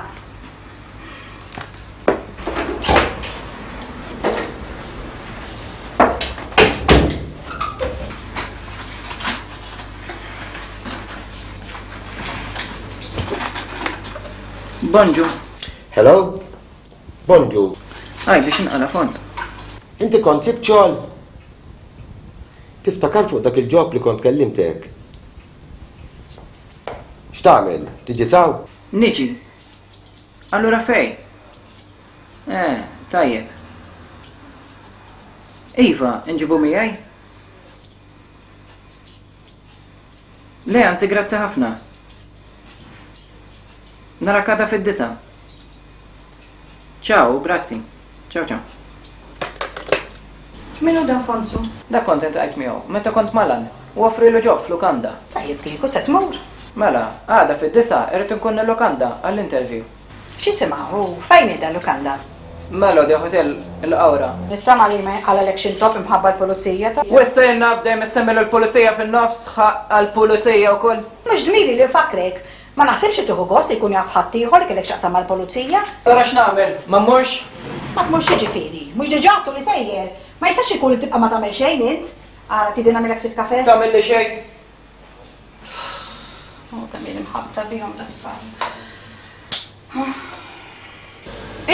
Bonġu. Hello? Bonġu. Għaj, biex inqala Fons. Inti kont sibt xogħol? Tiftakar fuq dak il-job li kont kellimtek? X'tagħmel? Tiġi saw? Niġi. Allura fej? Eh, tajjeb. Iva, nġibu miegħi? Le, anzi grazzi ħafna. Narak għada fid-disgħa. Ciao, grazzi. Ciao, ciao. Min hu dan Fonzu? Dak kont iltqajt miegħu meta kont Malan u offrilu job f'lukanda. Tajjeb kieku se tmur. Mela, għada fid-disgħa irrid inkun il-lukanda għall-interview. X'isimha u fejn hi dan lukanda? Melody Hotel il-Qawra. Nittama li ma jinqalalek xi ntopp imħabba l-pulizija ta' U issa jien naf dejjem issemmi lill-pulizija fin-nofs ħaqq għall-pulizija wkoll. Mhux dmiri li nfakkrek. Ma naħsibx li tieħu gost li jkun jaf ħaddieħor li kellek x'taqsam mal-pulizija. Allura x'nagħmel? Ma mmurx? Ma tmurx x'jiġifieri? Mhux diġà għadtu li sejjer. Ma jistax ikun li tibqa' ma tagħmel xejn int. Ara tridni nagħmilek ftit kafè? Tagħmilli xejn. Oh, kemm jien imħabbta bihom dat-tfal.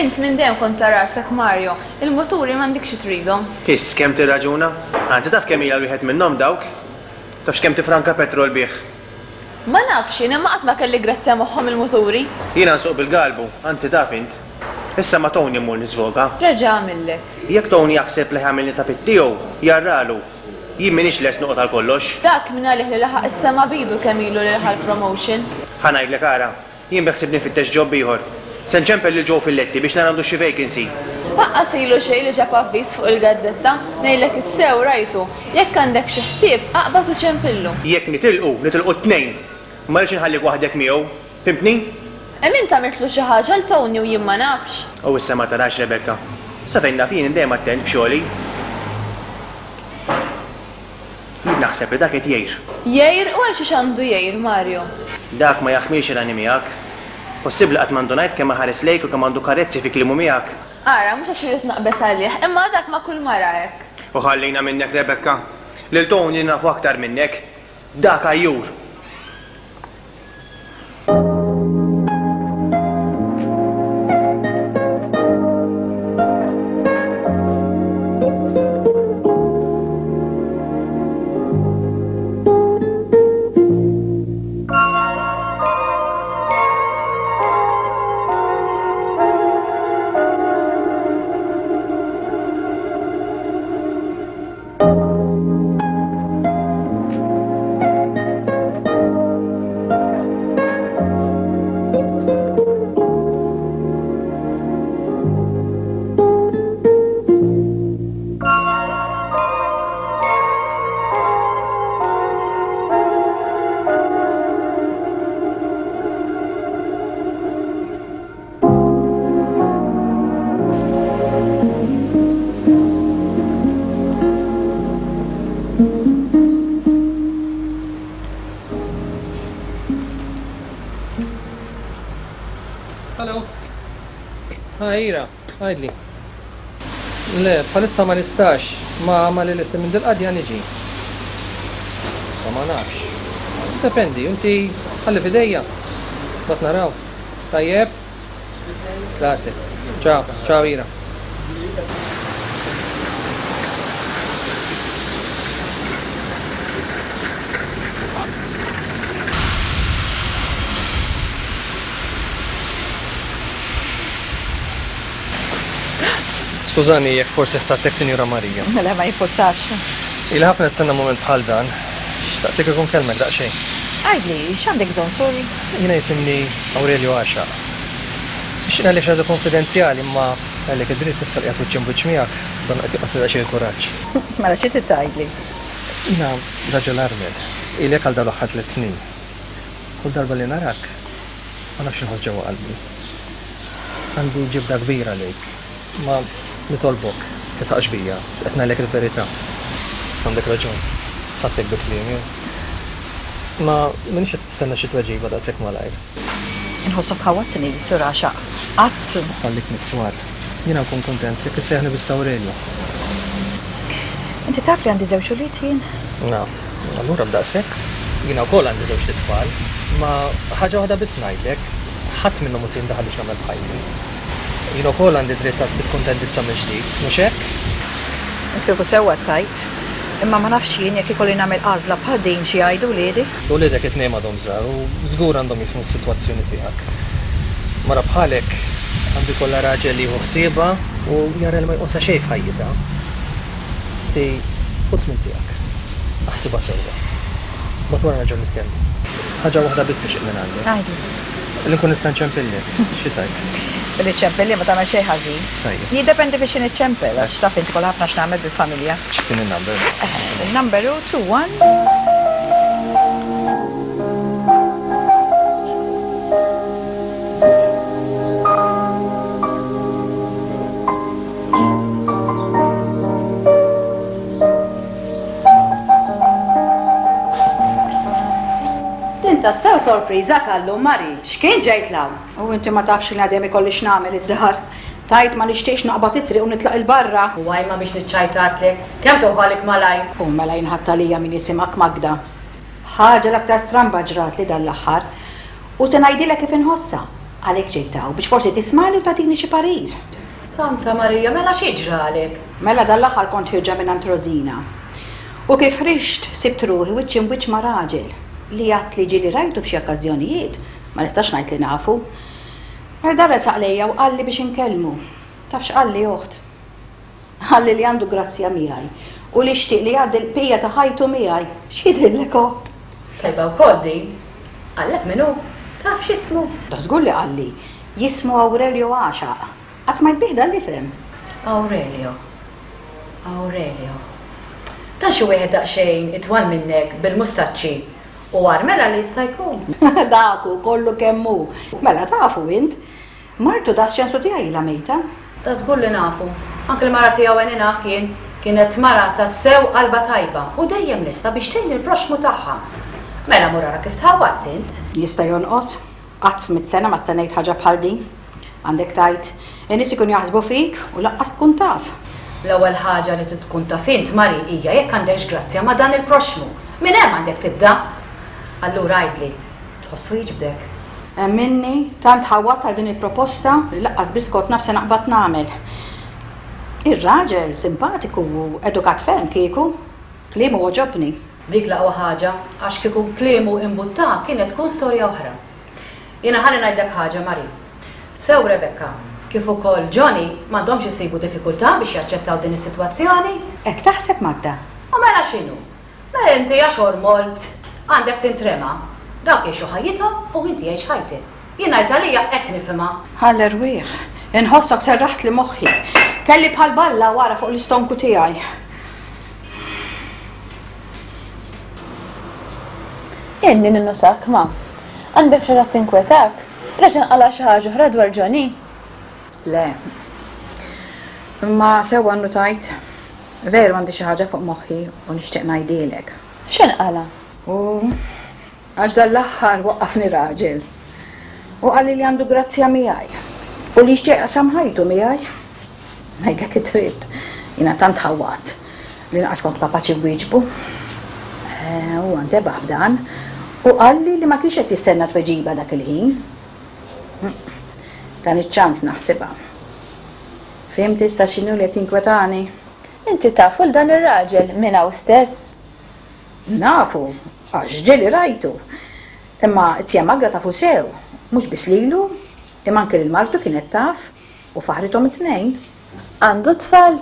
Int minn dejjem kont ta' rasek, Mario. Il-muturi m'għandikx xi tridhom. Iss kemm tirraġuna. Anzi taf kemm ilha wieħed minnhom dawk? Tafx kemm tifranka petrol bih? Ma nafx jien, imma qatt ma kelli grazzja moħħhom il-muturi. Jiena nsuq bil-galbu, anzi taf int. Issa ma' Tony mmur niżvoga. Reġa' għamillek. Jekk Tony jaħseb li ħamilni ta' pit tiegħu, jarralu. Jien m'iniex lest noqgħod għal kollox. Dak min għalih li laħaq is-sema b'idu kemm ilu li ħa l-promotion. Ħa ngħidlek ara, jien beħsibni nfittex job ieħor. Se nċempel lil Joe Filletti biex nara għandux xi vacancy. Lanqas ilu xejn li ġab avviż fuq il-gazzetta, ngħidlek is-sew rajtu. Jekk għandek xi ħsieb, aqbad u ċempillu. Jekk nitilqu, nitilqu t-tnejn. Ma rridx inħallik waħdek miegħu. Fhimtni? Hemm int għamiltlu xi ħaġa 'l Tony u jien ma nafx. U issa ma tarax Rebecca. Sa fejn naf jien dejjem attent f'xogħli. Jien naħseb li dak qed jgħir. Jgħir? U għal xiex għandu jgħir, Mario? Dak ma jaħmilx irani miegħek. Possibbli qatt m'għandu ngħid kemm iħares lejk u kemm għandu karezzi fi kliemu miegħek. Ara, mhux għax irrid naqbeż għalih, imma dak ma' kull mara hekk. U ħallina minnek Rebecca. Lil Tony nafu aktar minnek. Dak għajjur. Hello. Ha, Ira, għidli. Le, bħalissa ma nistax, ma ma li lesti minn dil-qadja niġi. Ma ma nafx. Dependi, inti ħalli f'idejja. Bat naraw. Tajjeb? Late. Ciao, ciao Ira. Skużani jekk forsi ħsadtek Sinjura Marija. Mela ma jimpurtax. Ili ħafna nistenna mument bħal dan. Xtaqt li kieku nkellmek daqsxejn. Għidli, x'għandek bżonn, sorry? Jiena jisimni Aurelio Għaxaq. Nixtieq ngħidlek xi ħaġa konfidenzjali imma Għalhekk id-dritt issa li qiegħed wiċċ imwiċċ miegħek, dan qed jonqosli daqsxejn il-kuraġġ. Mela xi trid tgħidli? Jiena raġel armel, ilek għal dawn l-aħħar tliet snin. Kull darba li narak, ma nafx x'inħoss ġewwa qalbi. Għandi ġibda kbira lejk, ma nitolbok titħaqx bija, qed ngħidlek il-verità. Għandek raġun, sattek bi kliemi. Ma minix qed nistenna xi tweġiba daqshekk malajr. Inħossok ħawatni, Sur Għaxaq. Qatt. Ħallik mis-swar. Jiena nkun kuntent jekk issejjaħni biss Aurelio. Inti taf li għandi żewġ ulied jien? Naf. Allura b'daqshekk. Jiena wkoll għandi żewġt itfal, ma ħaġa waħda biss ngħidlek, ħadd minnhom mhu se jindaħal biex nagħmel b'ħajti. Jien ukoll għandi dritt għal ftit kuntentizza mill-ġdid, mhux hekk? Int kieku sewwa tgħid. Imma ma nafx jien jekk ikolli nagħmel għażla bħal din xi jgħidu wliedi. Uliedek it-tnejn m'għadhom żgħar u żgur għandhom jifhmu s-sitwazzjoni tiegħek. Mara bħalek għandu jkollha raġel li jieħu ħsiebha u jara li ma jqosha xejn f'ħajjitha. Inti ħu żmien tiegħek. Aħsibha sewwa. Mbagħad wara nerġgħu nitkellmu. Ħaġa waħda biss nixtieq minn għandek. Għidli. Li nkun nista' nċempillek. Xi tgħid? Billi ċċempilli ma tagħmel xejn ħażin. Tajjeb. Jiddependi biex niċċempel għax taf inti kollha ħafna x'nagħmel bil-familja. X'tini n-number? Il-number hu two one. Din tassew sorpriża tal-lum, Mari. X'kien ġejt l-hawn? U inti ma tafx li għadem ikolli x'nagħmel id-dar. Tajt ma nixtieqx naqbad it-triq u nitlaq il-barra. U għajma biex niċċajtatlek. Kemm tuħalek malaj? U mela jinħadd għalija min jisimgħek Magda. Ħaġa l-aktar stramba ġrat li dan l-aħħar. U se ngħidilek kif inħossha. Għalhekk ġejt hawn biex forsi tismagħli u tagħtini xi parir. Santa Marija, mela xi ġralek? Mela dan l-aħħar kont ħirġa minn Rosina. U kif ħriġt sibt ruħi wiċċ imwiċċ ma' raġel li għad li ġieli rajtu f'xi okkażjonijiet, ma nistax ngħid li nafu. Mela dan resaq lejja u qalli biex inkellmu. Taf x'qalli oħt? Qalli li għandu grazzja miegħi u li xtieq li jgħaddi l-bqija ta' ħajtu miegħi. X'jidhirlek oħt? Tajba wkoll din. Qallek min hu? Taf x'ismu? Ta' żgur li qalli. Jismu Aurelio Għaxaq. Qatt smajt bih dan l-isem? Aurelio. Aurelio. Dan xi wieħed daqsxejn itwal minnek bil-mustaċċi u armela li jista' jkun. Daku kollu kemm hu. Mela tafu int. Martu da x'ċensu tiegħi ilha mejta. Ta' żgur li nafu. Anke l-mara tiegħu għeni naf jien. Kienet mara tassew qalba tajba u dejjem lesta biex tgħin il-proxxmu tagħha. Mela mur ara kif tħawwadt int. Jista' jonqos. Qatt f'mitt sena ma stennejt ħaġa bħal din. Għandek tgħid, in-nies ikunu jaħsbu fik u laqqas tkun taf. L-ewwel ħaġa li trid tkun taf int, Mari, hija jekk għandekx grazzja ma' dan il-proxxmu. Minn hemm għandek tibda. Allura għidli, tħossu jiġbdek? Emminni, tant ħawwadt għal din il-proposta li laqqas biss kont naf se naqbad nagħmel. Ir-raġel simpatiku u edukat ferm kieku, kliemu għoġobni. Dik l-aqwa ħaġa, għax kieku kliemu imbuttak kienet tkun storja oħra. Jiena ħalli ngħidlek ħaġa, Mari. Sew Rebecca, kif ukoll Johnny m'għandhomx isibu diffikultà biex jaċċettaw din is-sitwazzjoni. Hekk taħseb Magda? U mela x'inhu? Mela inti għax ormolt għandek tintrema. Dawk jgħixu ħajjithom u inti jgħix ħajtek. Jien ngħid għalija hekk nifhimha. Ħall erwieħ, inħossok serraħt li moħħi. Kelli bħal balla wara fuq l-istonku tiegħi. Inni ninnotak ma. Għandek xi ħadd tinkwetak? Reġa' nqala' xi ħaġa oħra dwar Johnny? Le. Imma sewwa nnutajt. Veru għandi xi ħaġa fuq moħħi u nixtieq ngħidilek. X'inqala? U għax dan l-aħħar waqqafni raġel. U qalli li għandu grazzja miegħi. U li jixtieq jaqsam ħajtu miegħi. Ngħidlek id-dritt, jiena tant ħawwadt li lanqas kont kapaċi nwieġbu. Huwa ntebaħ b'dan u qalli li ma kienx qed jistenna tweġiba dak il-ħin. Dan iċ-ċans naħsibha. Fhimt issa x'inhu li qed jinkwetani? Inti tafu l dan ir-raġel minn hawn stess? Nafu, għax ġieli rajtu. Imma t-tja Magda tafu sew, mhux biss lilu, imma anke lil martu kienet taf u faħrithom it-tnejn. Għandu tfal?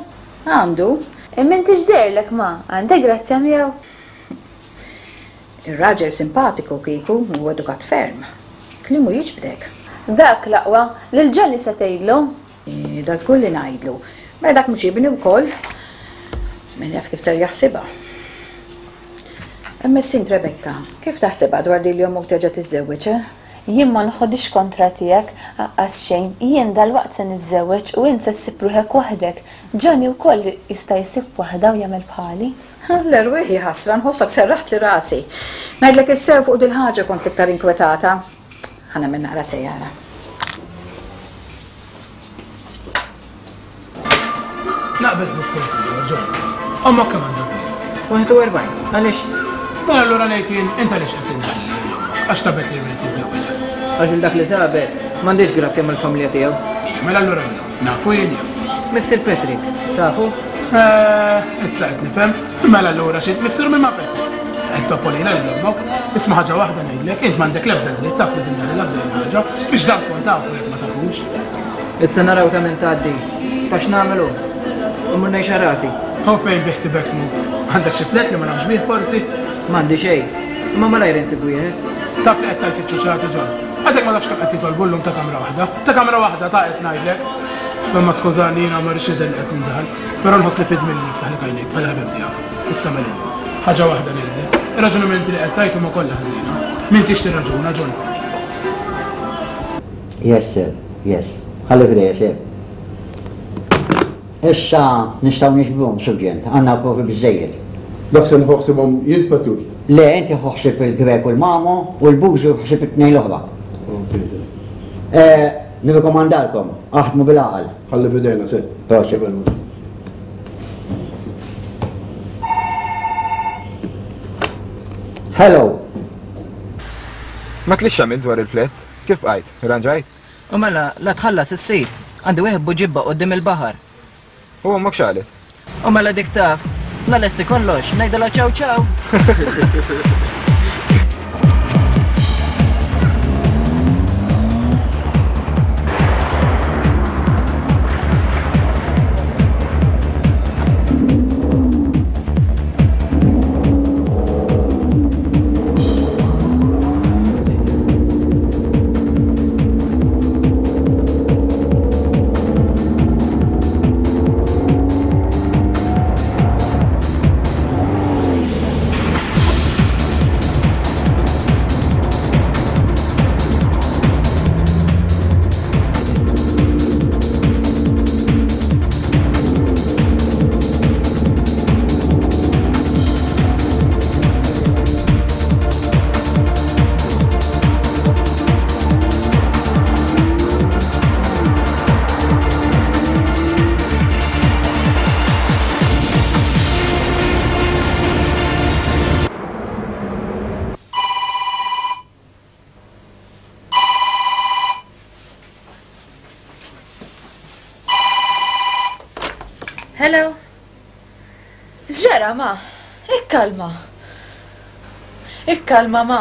Għandu. Imma inti x'deherlek ma, għandek grazzja miegħu? Ir-raġel simpatiku kieku u edukat ferm. Kliemu jiġbdek. Dak l-aqwa, lil Johnny se tgħidlu? Da żgur li ngħidlu. Mela dak mhux ibni wkoll. Min jaf kif ser jaħsibha. Imma issint Rebecca, kif taħsibha dwar din li ommok terġa' tiżżewweġ, eh? Jien ma nħodix kontra tiegħek, aqqas xejn. Jien dalwaqt se niżżewweġ u int se ssib ruħek waħdek. Johnny wkoll jista' jsib waħda u jagħmel bħali. L-erwieħ hi ħasra, nħossok serraħtli rasi. Ngħidlek issew fuq dil-ħaġa kont l-iktar inkwetata. Ħa nagħmel naqra tejara. Naqbeż diskors ieħor, John. Ommok kemm għandha żmien? Wieħed u erbgħin. Għaliex? Mela allura ngħid jien, int għaliex qed tindaħal lil ommok? Għax sabet li jrid jiżżewweġha. Għax il dak li sabet m'għandix grazzja mill-familja tiegħu. Mela allura min hu? Nafu jien jew? Missier Patrick, tafu? Eh, issa qed nifhem. Mela allura xi miksur minn ma' Patrick. Qed topponina lil ommok. Isma' ħaġa waħda ngħidlek, int m'għandek l-ebda dritt taf li tindaħlilha f'din il-ħaġa biex dan tkun tafu jekk ma tafux. Issa naraw ta' min tgħaddi. Taf x'nagħmel hu? Immur ngħix għal rasi. U fejn biħsibek tmur? Għandek xi flat li ma nafx bih forsi? M'għandi xejn. Imma malajr insib wieħed. Taf li qed tgħid iċ-ċuċati, John. Għadek ma tafx kemm qed jitolbu llum ta' kamra waħda. Ta' kamra waħda ta' qed ngħidlek. Insomma skużani jiena ma rridx nidher li qed nindaħal, però nħoss li fid minni niftaħlek għajnejk bħala ħabib tiegħek. Issa mela int. Ħaġa waħda ngħidlek. Ir-raġunamenti li qed tgħid huma kollha ħżiena. M'intix tirraġuna, John. Yes, sir. Yes. Ħalli f'idejja, sir. Issa nistgħu niġbruhom, Surġent. Għandna provi biżżejjed. Dak se nieħu ħsiebhom jien, Spettur? Le, inti ħu ħsieb il-Grek u l-Mamo u l-Bużu ħsieb it-tnejn l-oħra. Ok, sir. Eh, nirrikomandalkom, aħdmu bil-għaqal. Ħalli f'idejna, sir. Prosit. Hello. Ma tlix għamilt dwar il-flat? Kif bqajt? Irranġajt? U mela, la tħallas issir. Għandi wieħed buġibba quddiem il-baħar. U ommok x'qalet? U mela dik taf. La lesti kollox, ngħidilha ċaw ċaw. Hello. X'ġara, ma? Ikkalma. Ikkalma, ma.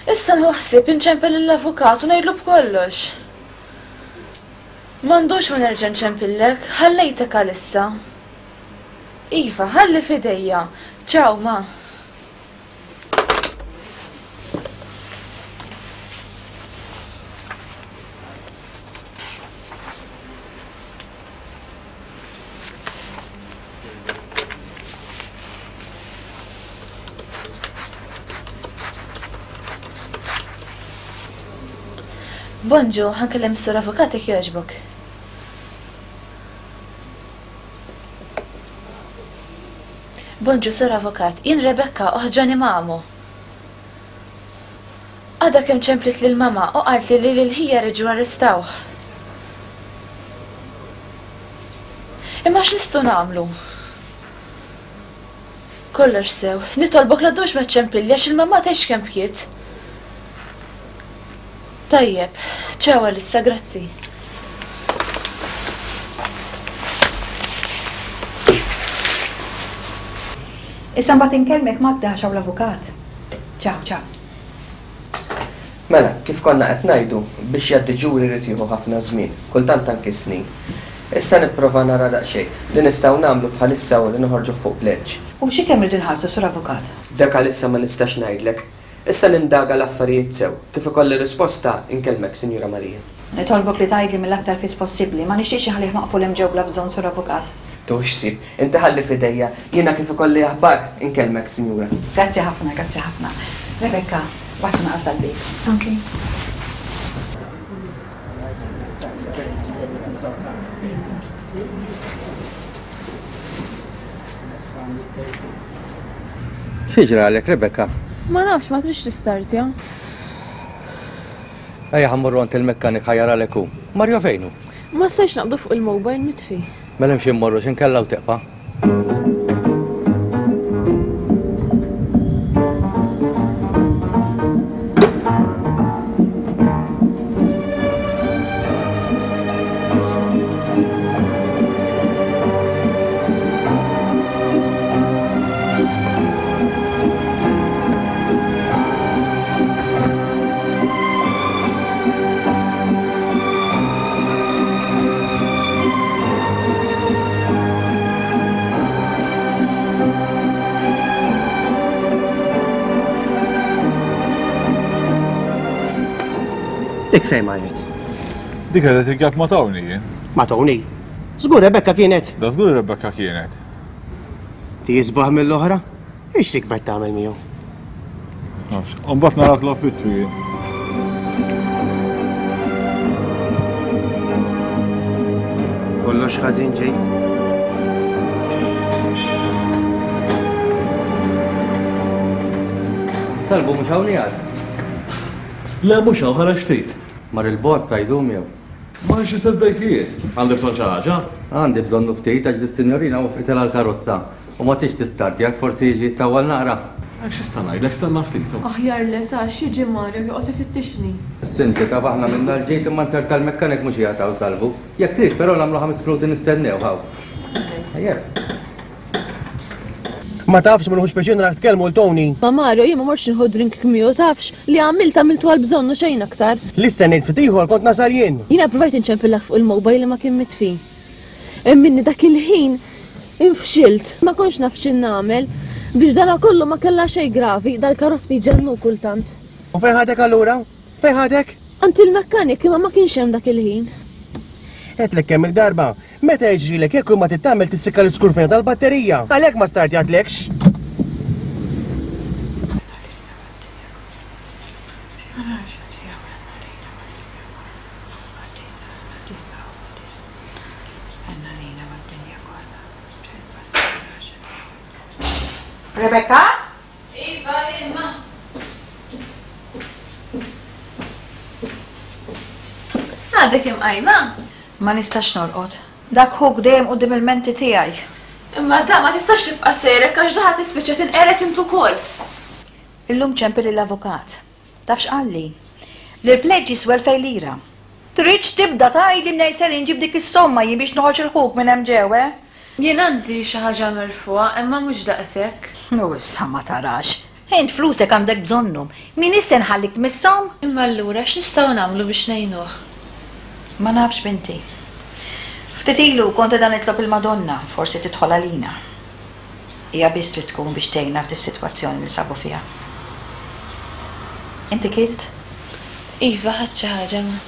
Issa nħu ħsieb inċempel lill-avukat u ngħidlu b'kollox. M'għandux ma nerġa' nċempillek, ħallejtek għalissa. Iva, ħalli f'idejja. Ciao, ma. Bonġu, ħankellem is-sur avukat jekk jogħġbok. Bonġu, sur avukat, jien Rebecca oħġani mamu. Għadha kemm ċemplit lil mama u qaltli li lil ħija reġgħu arrestawh. Imma x'nistgħu nagħmlu? Kollox sew, nitolbok la ddumx ma ċċempilli għax il-mamma tgħidx kemm bkiet. Tajjeb, ċaw għalissa, grazzi. Issa mbagħad inkellmek Magda għax hawn l-avukat. Ċaw, ċaw. Mela, kif konna qed ngħidu, biex jgħaddi ġuri jrid jieħu ħafna żmien, kultant anki snin. Issa nipprova nara daqsxejn. Li nistgħu nagħmlu bħalissa hu li noħorġuh fuq pledge. U xi kemm irridu nħallsu, Sur Avukat? Dak għalissa ma nistax ngħidlek. Issa nindaga l-affarijiet sew. Kif ikolli risposta, inkellmek, Sinjura Maria. Nitolbok li tgħidli mill-aktar fis possibbli, ma nixtieqx inħallih maqful hemm ġew bla bżonn sur avukat. Tux ħsieb, inti ħalli f'idejja, jiena kif ikolli aħbar inkellmek, sinjura. Grazzi ħafna, grazzi ħafna. Rebecca, waslu naqas għall-bieb. Ok. Xi ġralek, Rebecca? Ma nafx, ma tridx tistartja. Ejja ħa mmorru għand il-mekkanik ħa jaralek hu. Mario fejn hu? Ma stajtx naqbdu fuq il-mobile mitfi. Mela imxi mmorru x'inkella u teqpa'. Dik fejn marret? Dik qed tiggab ma' Tony jien. Ma' Tony? Żgur Rebecca kienet. Da żgur Rebecca kienet. Ti jisbaħ mill-oħra? Ix tikber tagħmel miegħu? Nafx, imbagħad narak l-affittju jien. Kollox ħażin ġej. Salvu mhux hawn qiegħed. Le mhux hawn ħareġ ftit. Mar il-bogħod sa jdum jew? Mar xi sitt brejkijiet. Għandek bżonn xi ħaġa? Għandi bżonnu ftit għax dis-sinjorina waqfitilha l-karozza u ma tix tistartjat forsi jiġi jittawwal naqra. Għax x'ista' ngħidlek stenna ftit. Aħjar le tax jiġi Mario joqgħod ifittixni. Sinti taf aħna minna l-ġejt imma nzerta l-mekkanik mhux qiegħed hawn Salvu. Jekk trid però nagħmlu ħames minuti nistennew hawn. Tajjeb. Ma tafx ma nħux pjaċir narak tkellmu l Tony. Ma Mario, jien ma mortx nieħu drink miegħu tafx li għamilt għamiltu għal bżonnu xejn aktar. Li stennejt ftit ieħor kont nasal jien. Jiena provajt inċempillak fuq il-mobile li ma kien mitfi. Minni dak il-ħin infxilt, ma kontx naf x'in nagħmel biex dana kollu ma kellha xejn gravi, dal-karozzi ġennu kultant. U fejn ħadek allura? Fejn ħadek? Għand il-mekkanik imma ma kienx hemm dak il-ħin. Għedtlek kemm il-darba, meta jiġrilek jekk ma tittamel tissikka l-iskurfina tal-batterija. Għalhekk ma startjatlekx. Rebecca? Iva, imma. Għadek imqajma? Ma nistax norqod. Dak ħuk dejjem quddiem il-menti tiegħi. Imma da ma tistax tibqa' sejrek għax daħat tispiċċa tinqered int ukoll. Illum ċempel lill-avukat. Taf x'qalli? Li l-pleġġ jiswa elfejn lira. Tridx tibda tgħidli mnejn ser inġib dik is-somma jien biex noħroġ il-ħuk minn hemm ġew, eh? Jien għandi xi ħaġa merfugħa imma mhux daqshekk. U issa ma tarax. Int flusek għandek bżonnhom. Min issa nħallik tmisshom? Imma allura x'nistgħu nagħmlu biex ngħinuh? Ma nafx binti. Ftit ilu kont qiegħda nitlob il-Madonna, forsi tidħol għalina. Hija biss trid tkun biex tgħinna f'dis-sitwazzjoni li sabu fiha. Inti kilt? Iva, ħadt xi ħaġa ma.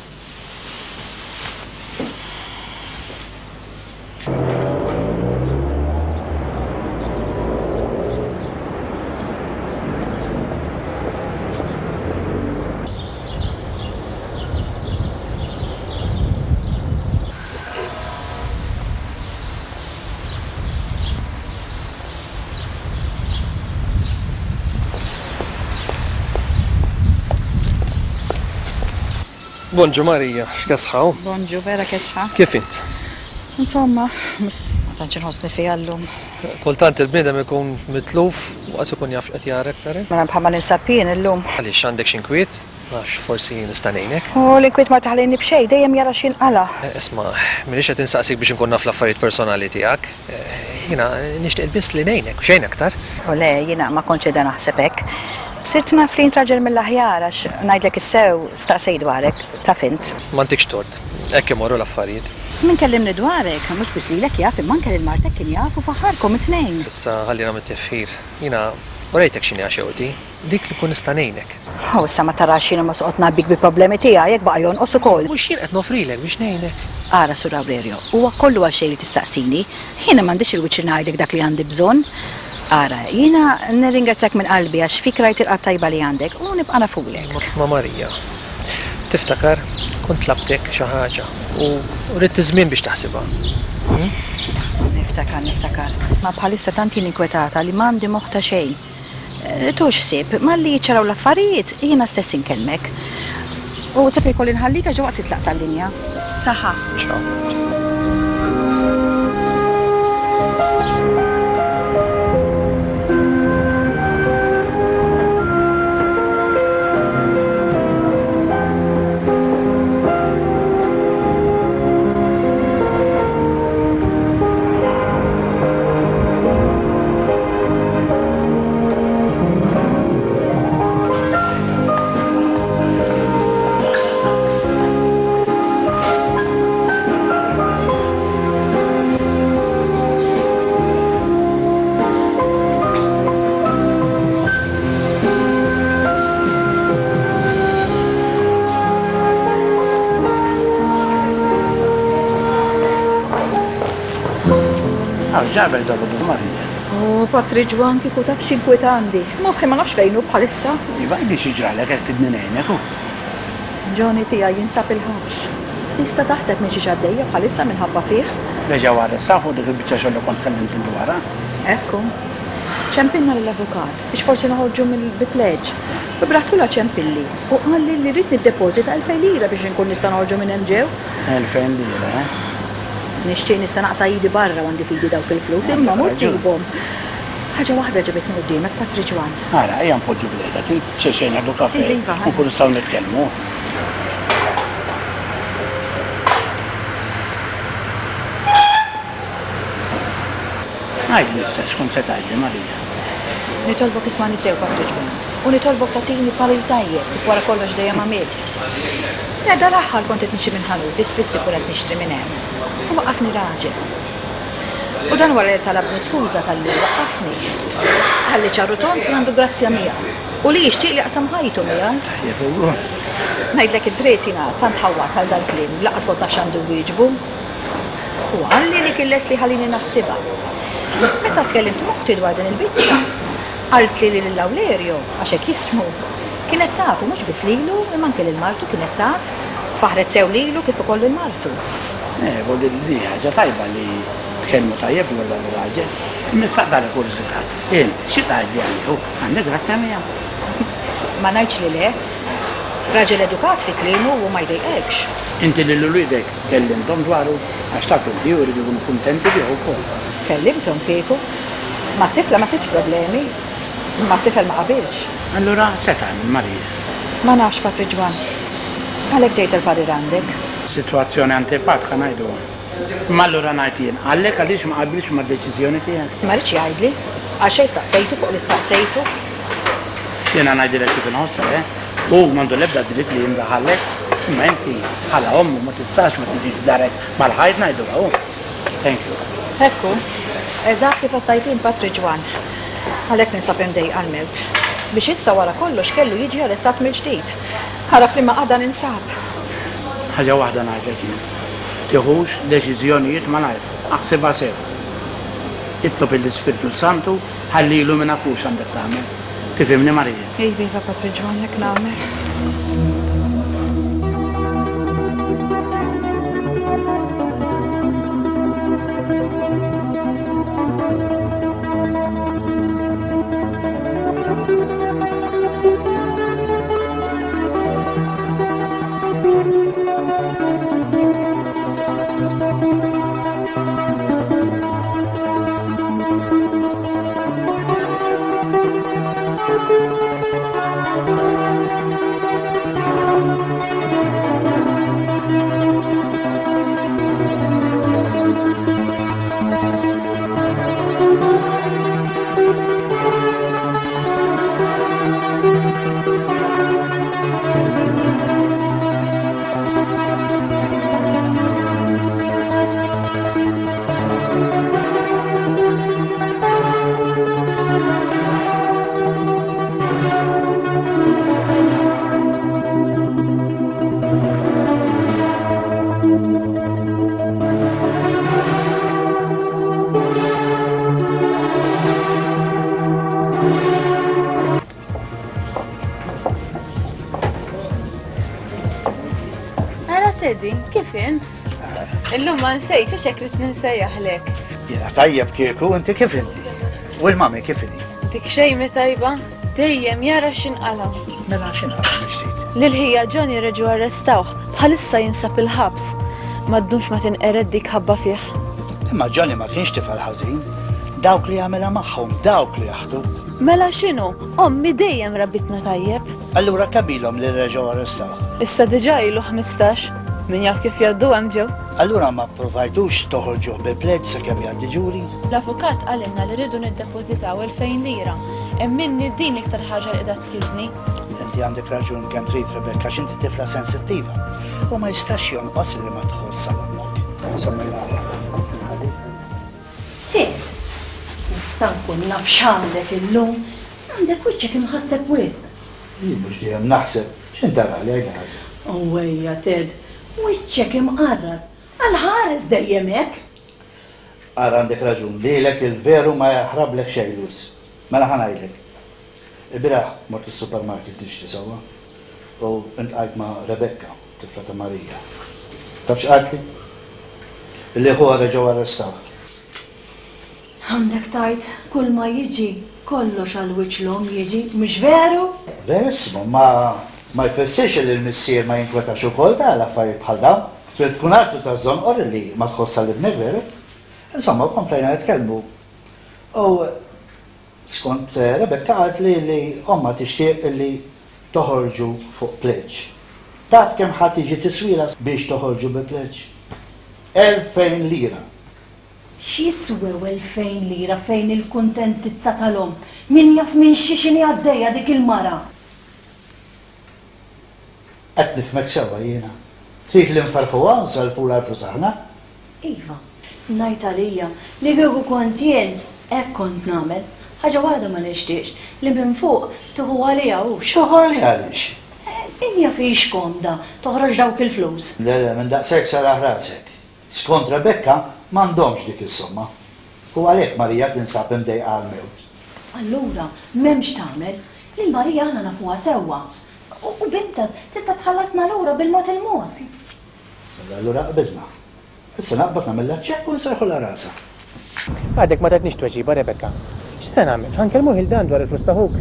Bonġu Marija, x'kesħa? Bonġu, vera kesħa. Kif int? Insomma, ma tantx inħossni fiha llum. Kultant il-bniedem ikun mitluf u qas ikun jaf x'qed jara aktar. Mela bħalma ninsab jien illum. Għaliex għandek xi inkwiet? Għax forsi nista' ngħinek. U l-inkwiet ma taħlini b'xejn, dejjem jara x'inqala. Isma', m'iniex qed insaqsik biex inkun naf l-affarijiet personali tiegħek. Jiena nixtieq biss li ngħinek, xejn aktar. U le, jiena ma kontx qiegħda naħseb hekk. Sirt naf li int raġel mill-aħjar għax ngħidlek is-sew staqsej dwarek, taf int. M'għandikx tort, hekk imorru l-affarijiet. Min kellimni dwarek, mhux biss lilek jaf, imma anke lil martek kien jaf u faħarkom it-tnejn. Issa ħallina mit-tifħir. Jiena U rejtek x'inhi xewqti, dik li nkun nista' ngħinek. U issa ma tarax jiena ma soqgħod ngħabbik bi problemi tiegħi jekk baqa' jonqos ukoll. Mhux jien qed nofrilek biex ngħinek. Ara Sur Aurelio, huwa kollu għal xejn li tistaqsini. Jiena m'għandix il-wiċċ li ngħidlek dak li għandi bżonn. Ara, jiena nirringrazzjak minn qalbi għax fik rajt il-qalb tajba li għandek u nibqa' nafulek. Ma Marija, tiftakar kont tlabtek xi ħaġa u ridt iż-żmien biex taħsibha. Hmm? Niftakar, niftakar. Ma bħalissa tant jien inkwetata li m'għandi moħħ ta' xejn. Tux ħsieb, malli jiċċaraw l-affarijiet, jiena stess inkellmek. U se jkolli nħallik għax waqt titlaq tal-linja. Saħħa. Ciao. Ġabel dolodu Marija. O, Patri Ġwan, kieku taf x'inkwiet għandi. Moħħi ma nafx fejn hu bħalissa. Iva, għidli xi ġralek hekk tridni ngħinek hu. Johnny tiegħi jinsab il-ħabs. Tista' taħseb minn xi għaddejja bħalissa minħabba fih? Reġgħu arrestaw fuq dik il-biċċa xogħol li kont tkellimt dwarha. Ekku. Ċempilna lill-avukat biex forsi noħorġu mill-bitleġ. U bratlula ċempilli u qalli li rrid niddepożita elfejn lira biex inkun nista' noħorġu minn hemm ġew. Elfejn lira, eh? Nixtieq nista' naqta' idi barra u għandi fidi dawk il-flus, imma mur ġibhom. Ħaġa waħda ġibitni quddiemek, Patri Ġwan. Ara, ejja npoġġu bil-qiegħda, trid xi xejn nieħdu kafè Iva, u nkunu nistgħu nitkellmu. Għidli issa x'kont se tgħidli, Marija. Nitolbok ismani sew, Patri Ġwan, u nitolbok tagħtini parir tajjeb kif wara kollox dejjem għamilt. Le, dal-aħħar kont qed nixtri minn ħanut li spiss ikun qed nixtri minn hemm. U waqqafni raġel. U dan wara li talabni skuża talli waqqafni. Ħalli ċarru tont li għandu grazzja miegħu u li jixtieq li jaqsam ħajtu miegħu. Tajjeb, u. Ngħidlek id-dritt jiena tant ħawwat għal dal-kliem, lanqas kont naf x'għandu wieġbu. U qalli li kien lest li ħallini naħsibha. Meta tkellimt moħti dwar din il-biċċa, qaltli li lil Awlerio, għax hekk jismu, kienet tafu mhux biss lilu, imma anke lil martu kienet taf, faħret sew lilu kif ukoll lil martu. Eh, voglio dire, ħaġa tajba li tkellmu tajjeb dwar dan ir-raġel. Imma issa aqdar il-kurżità. Int, xi tgħidli għalih? Għandek grazzja miegħu. Ma ngħidx li le. Raġel edukat fi kliemu u ma jdejqekx. Inti lil uliedek kellimthom dwaru għax taf inti u jridu jkunu kuntenti bih ukoll. Kellimthom kieku. Ma t-tifla ma sibx problemi. Ma t-tifel ma qabilx. Allura se tagħmel Marija? Ma nafx Patri Ġwan. Għalhekk ġejt il-parir għandek. Sitwazzjoni antipatka ngħiduha. Ma allura ngħid jien, għalhekk għaliex ma qabilx mad-deċiżjoni tiegħek? Ma rridx jgħidli, għal xejn staqsejtu fuq li staqsejtu. Jiena ngħidilek kif inħossha, eh? Hu m'għandu l-ebda dritt li jindaħallek, imma inti bħala ommu ma tistax ma tiġix darek mal-ħajt ngħidulha hu. Thank you. Ekku, eżatt kif qed tgħid int Patri Ġwan. Għalhekk ninsab imdejqa għall-mewt. Biex issa wara kollox kellu jiġi arrestat mill-ġdid. Ara f'liema qagħda ninsab. Ħaġa waħda ngħidlek jien. Tiħux deċiżjonijiet malajr, aħsibha sew. Itlob lill-Ispirtu Santu ħalli jilluminak hu x'għandek tagħmel. Tifhimni Marija? Iva, iva Patri Ġwan, hekk nagħmel. Thank you. Illum ma nsejtx u x'hekk ridt ninsejjaħlek. Jiena tajjeb kieku, inti kif inti? U l-mami kif inhi? Dik xejn mi tajba, dejjem jara x'inqala'. Mela x'inqala' mix-ġdid? Lil ħija Johnny reġgħu arrestawh, bħalissa jinsab il-ħabs. Ma ddumx ma tinqered dik ħabba fih. Imma Johnny ma kienx tifel ħażin. Dawk li jagħmilha magħhom, dawk li jaħdu. Mela x'inhu? Ommi dejjem rabbitna tajjeb. Allura kemm ilhom li reġgħu arrestawh? Issa diġà ilu ħmistax. Min jaf kif jgħaddu hemm ġew. Allura ma pprovajtux toħorġuh bil-pledge sakemm jgħaddi ġuri? L-avukat qalilna li rridu niddepożitaw elfejn lira. Emminni din l-iktar ħaġa li qiegħda tkidni. Inti għandek raġun kemm trid Rebecca għax inti tifla sensittiva. U ma jistax jonqos li ma tħoss għal ommok. Insomma, Ted, nista' nkun naf x'għandek illum? Għandek wiċċek imħasseb wisq. Jien mhux dejjem naħseb, x'intarali għidha. Owwejja Ted, wiċċek imqarras, għal ħares dejjem hekk. Ara għandek raġun, lilek il-veru ma jaħrablek xejn Luz. Mela ħa ngħidlek. Ilbieraħ mort is-supermarket nixtri sewwa u intqajt ma' Rebecca, tifla ta' Marija. Taf x'qaltli? Illi ħuha reġgħu arrestawh. Għandek tgħid kull ma jiġi kollox għal wiċċ l-omm jiġi, mhux veru? Verissimo, ma ma jfissirx li l-missier ma jinkwetax ukoll ta' għal affarijiet bħal dawn. Trid tkun artu taż-żonqor illi ma tħoss għal ibnek, veru? Insomma, komplejna nitkellmu. U skont Rebecca qaltli li ommha tixtieq illi toħorġu fuq pledge. Taf kemm ħa tiġi tiswielha biex toħorġu bi pledge? Elfejn lira! X'jiswew elfejn lira fejn il-kuntentizza tal-omm? Min jaf minn xiex inhi għaddejja dik il-mara! Qed nifhmek sewwa jiena. Trid li nferrħuha u nsellfulha l-flus aħna? Iva, ngħid għalija li kieku kont jien hekk kont nagħmel. Ħaġa waħda ma nixtieqx, li minn fuq tieħu għaliha hux. Tieħu għaliha għaliex? Min jaf hix komda toħroġ dawk il-flus. Le, le, minn daqshekk serraħ rasek. Skont Rebecca, m'għandhomx dik is-somma. U għalhekk Marija tinsab imdejqa għall-mewt. Allura, m'hemmx tagħmel. Lil Marija aħna nafuha sewwa. U bintha tista' tħallasna lura bil-mod il-mod. Mela allura qbilna. Issa naqbad nagħmilha ċ-ċekk u nserrħulha rasha. Għadek ma tatnix tweġiba, Rebecca. X'se nagħmel? Ħa nkellmuh 'il dan dwar il-flus ta' ħuk?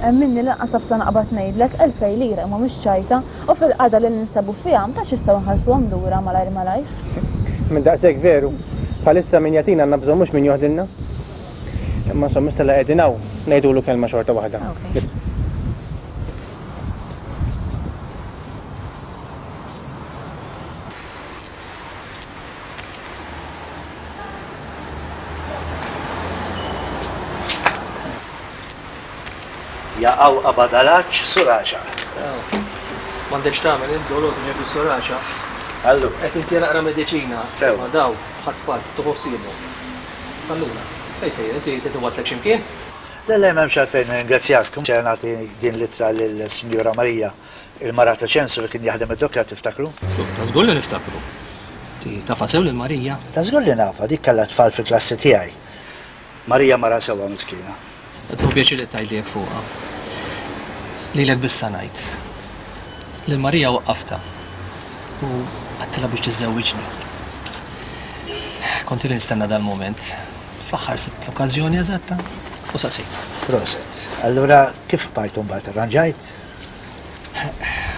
Emminni lanqas naf sa naqbad ngħidlek, elfej lira imma mhux ċajta, u fil-qagħda li ninsabu fiha ma tantx nistgħu nħallsuhom lura malajr malajr. Minn daqshekk veru. Bħalissa min jagħtina għandna bżonn mhux min joħdilna. Imma insomma issa la qegħdin hawn, ngħidulu kelma xorta waħda. Jaqaw qabad għal-għatx suraċa. M'għandekx tagħmel int dolor ġej fis-suraċa. Allura. Qed inti naqra mediċina. Sew. Ma daw bħat tfal tieħu ħsiebhom. Allura, fejn sejjer inti trid inwasslek x'imkien? Le le m'hemmx għalfejn nirringrazzjak. Ser nagħti din l-ittra lill-Sinjura Marija, il-mara ta' Ċensu li kien jaħdem id-dokkja tiftakru? Ta' żgur li niftakru. Ti tafha sew lil Marija? Ta' żgur li nafha, dik kellha tfal fil-klassi tiegħi. Marija mara sewwa miskina. Qed nieħu pjaċir li tgħidli hekk fuqha. Lilek biss sa ngħid. Lil Marija waqqaftha u għedtilha biex tiżżewwiġni. Kont ili nistenna dal-mument. Fl-aħħar sibt l-okkażjoni eżatta u saqsejtha. Proset. Allura kif bqajtu mbagħad arranġajt?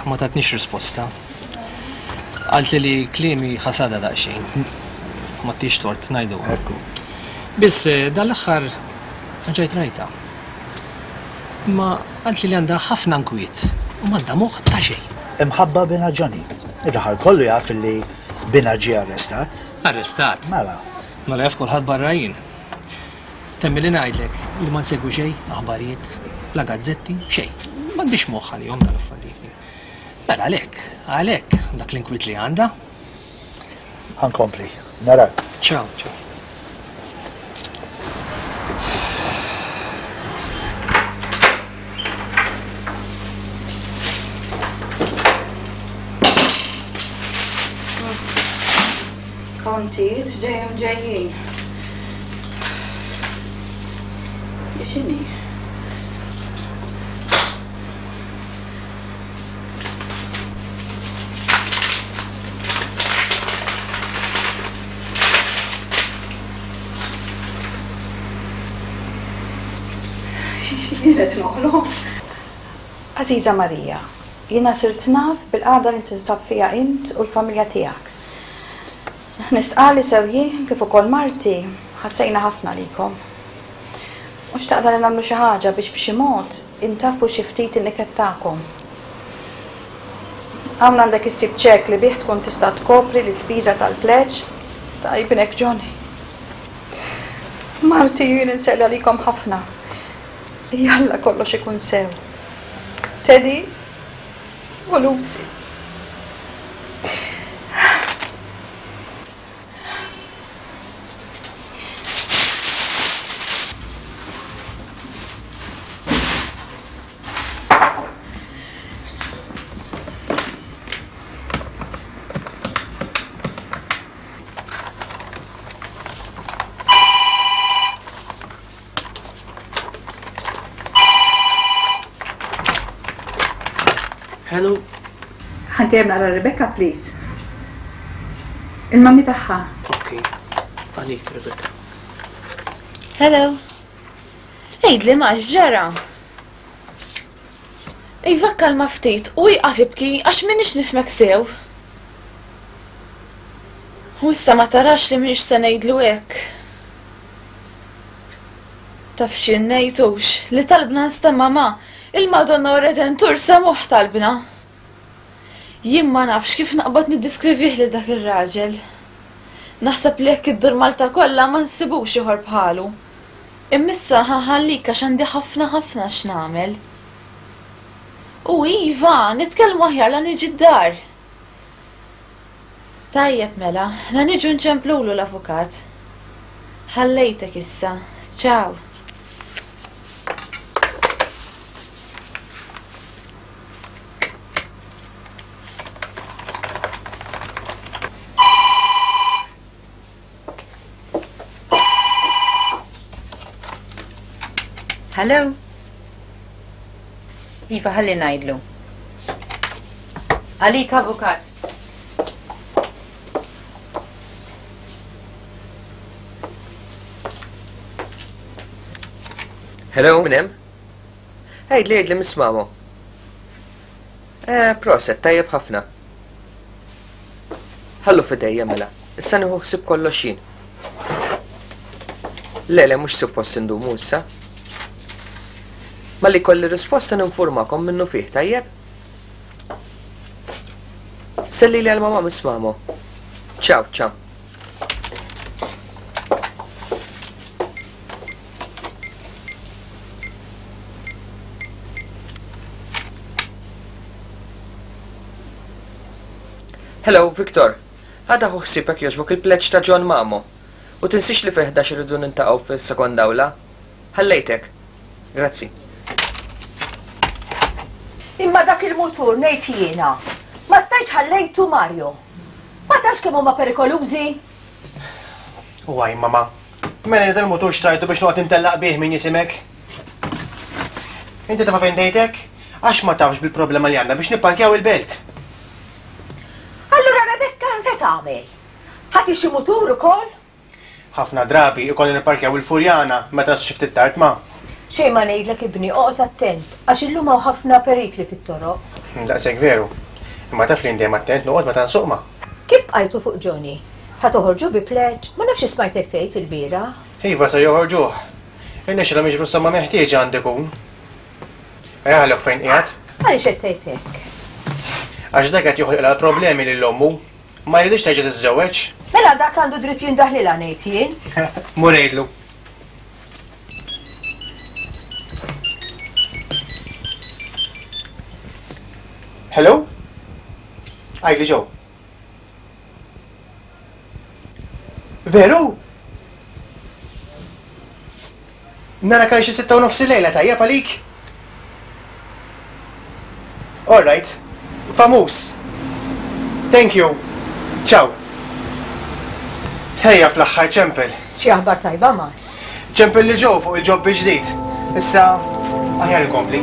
Ma tatnix risposta. Qaltli li kliemi ħasadha daqsxejn. Ma tix tort ngħidu. Ekku. Biss dan l-aħħar ġejt rajtha. Imma qaltli li għandha ħafna nkwiet u m'għandha moħħ ta' xejn. Imħabba binha Johnny. Ir-raħal kollu jaf li binha ġie arrestat. Arrestat? Mela. Mela jaf kulħadd barra jien. Temmi li ngħidlek li ma nsegwi xejn, aħbarijiet, la gazzetti, xejn. M'għandix moħħ għalihom dal-affarijiet jien. Mela għalhekk, għalhekk dak l-inkwiet li għandha. Ħa nkompli. Narak. Ciao, ciao. Kontijiet dejjem ġejjin. X'inhi? Jien qed noħlom. Għażiża Marija, jiena sirt naf bil-qagħda li tinsab fiha int u l-familja tiegħek. Nistqarr li sew jien kif ukoll marti ħassejna ħafna għalikom. U xtaqna li nagħmlu xi ħaġa biex b'xi mod intaffu xi ftit in-niket tagħkom. Hawn għandek issib ċekk li bih tkun tista' tkopri l-ispiża tal-pleġġ ta' ibnek Johnny. Marti u jien inselli għalikom ħafna. Jalla kollox ikun sew. Teddy u Lucy. Hello. Ħa nkellem naqra Rebecca, please. Il-mami tagħha. Ok. Għalik, Rebecca. Hello. Għidli ma x'ġara. Iva kalma ftit u ieqaf ibki għax m'iniex nifhmek sew. U issa ma tarax li m'iniex se ngħidlu hekk. Taf xi ngħidux li talbna nstema' ma' il-Madonna u Redentur semgħuh talbna. Jien ma nafx kif naqbad niddiskrivih lil dak ir-raġel. Naħseb li jekk iddur Malta kollha ma nsibux ieħor bħalu. Imma issa ħa nħallik għax għandi ħafna ħafna x'nagħmel. U iva, nitkellmu aħjar la niġi d-dar. Tajjeb mela, la niġu nċemplulu l-avukat. Ħallejtek issa. Ciao. Hello? Iva, ħalli ngħidlu. Għalik, avukat. Hello, min hemm? Għidli, għidli, Miss Mamo. Eh, proset, tajjeb ħafna. Ħallu fidejja mela. Issa nieħu ħsieb kollox jien. Le, le, mhux suppost indumu issa. Malli kolli risposta ninformakom minnu fih, tajjeb? Selli li għal-mama Miss Mamo. Ciao, ciao. Hello, Victor. Għada ħu ħsibek jogħġbok il-pleġġ ta' John Mamo. U tinsix li fi ħdax irridu nintaqgħu fis-sekonda awla. Ħallejtek. Grazzi. Imma dak il-mutur ngħid jiena. Ma stajtx ħallejtu Mario. Ma tafx kemm huma perikolużi? U għaj, mama. Mela li dal-mutur xtrajtu biex noqgħod intellaq bih min jisimek. Inti tafa fejn dejtek? Għax ma tafx bil-problema li għandna biex nipparkjaw il-belt. Allura Rebecca se tagħmel? Ħati xi mutur ukoll? Ħafna drabi ikolli nipparkjaw il-Furjana meta xi ftit tard ma. Xejn ma ngħidlek ibni, oqgħod attent għax illum hawn ħafna perikli fit-toroq. Daqshekk veru. Imma taf li dejjem attent noqgħod meta nsuq ma. Kif bqajtu fuq Johnny? Ħa toħorġu bi pleġġ? Ma nafx smajtek tgħid il-bieraħ. Iva se joħorġuh. Irnexxilhom jiġru s-somma meħtieġa għandi ikun. Ejja fejn qiegħed. Għaliex qed tgħid hekk? Għax dak qed joħloqlha problemi lil ommu. Ma jridx terġa' tiżżewweġ. Mela dak għandu dritt jindaħlilha ngħid jien. Mur ngħidlu. Hello? Għidli ġew. Veru? Nara kaj xi sitta u nofs il-lejla tajjeb għalik? All right. Famuż. Thank you. Ciao. Ejja fl-aħħar ċempel. Xi aħbar tajba ma? Ċempel li ġew fuq il-ġob ġdid. Issa aħjar inkompli.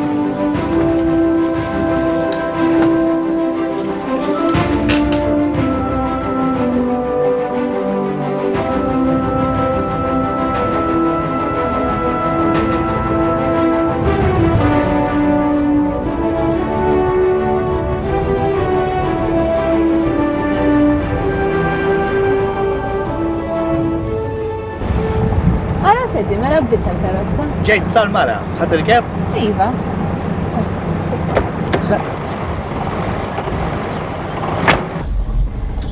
Teddy, mela bdilt tal-karozza? Ġejt tal-mara, ħa tirkeb? Iva.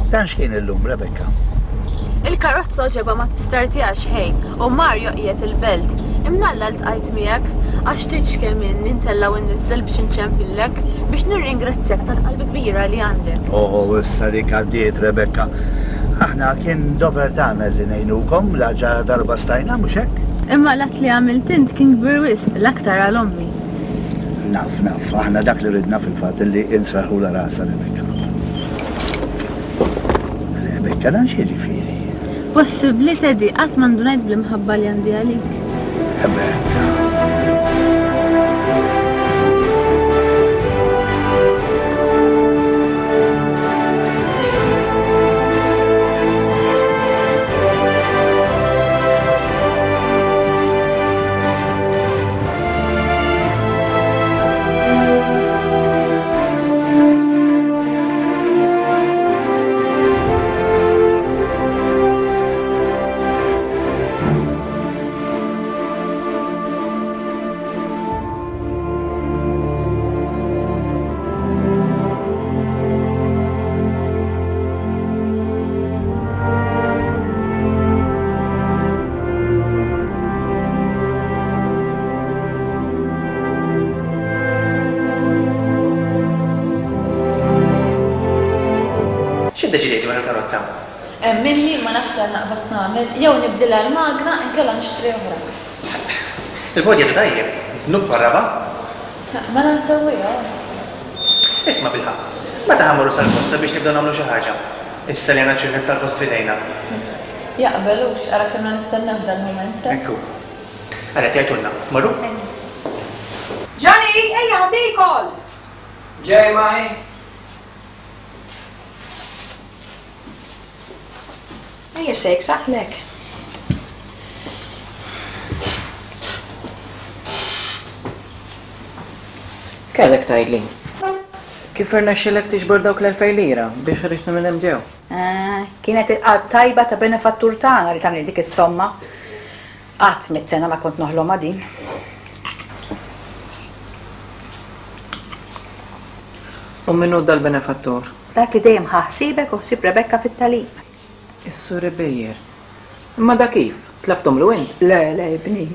Dan x'kien illum, Rebecca? Il-karozza ġeba ma tistartijax ħej u Mario qiegħed il-belt. Imnalla ltqajt miegħek għax tgħidx kemm inni ntella' u nniżżel biex inċempillek biex nirringrazzjak tal-qalb kbira li għandek. Oħo, issa dik għaddiet, Rebecca. Aħna kien dover tagħna li ngħinukom la ġa darba stajna, mhux hekk? Imma l-att li għamilt int kien kbir wisq l-aktar għal ommi. Naf, naf, aħna dak li ridna fil-fatt li inserħulha rasha Rebecca. Rebecca, dan x'jiġifieri? Possibbli, Teddy, qatt ma ndunajt bl-imħabba li għandi għalik. Rebecca. X'iddeċidejt dwar il-karozza? Emminni ma nafx x'għal naqbad nagħmel, jew nibdilha l-magna inkella nixtri oħra. Il-bodi għadu tajjeb, dnub bħar-raba'. Mela nsewwiha. Isma' bilħaqq, meta ħa mmorru sal-posta biex nibdew nagħmlu xi ħaġa? Issa li għandna ċ-ċirkett tal-post f'idejna. Jaqbel hux, ara kemm nistennew dal-mument. Ekku. Ara qed jgħidulna, morru? Johnny, ejja ħa tiekol! Ġej maħi. Ejja sejk saħlek. Kellek tgħidli. Kif irnexxielek tiġbor dawk l-elfej lira biex ħriġtna minn hemm ġew? Ah, kienet il-qalb tajba ta' benefattur tagħna li tagħmel dik is-somma. Qatt mitt sena ma kont noħlomha din. U min hu dal-benefattur? Dak li dejjem ħa ħsiebek u ħsieb Rebecca fit-tagħlim. Is-Sur Bejjer. Imma da kif? Tlabtomlu int? Le, le, ibni.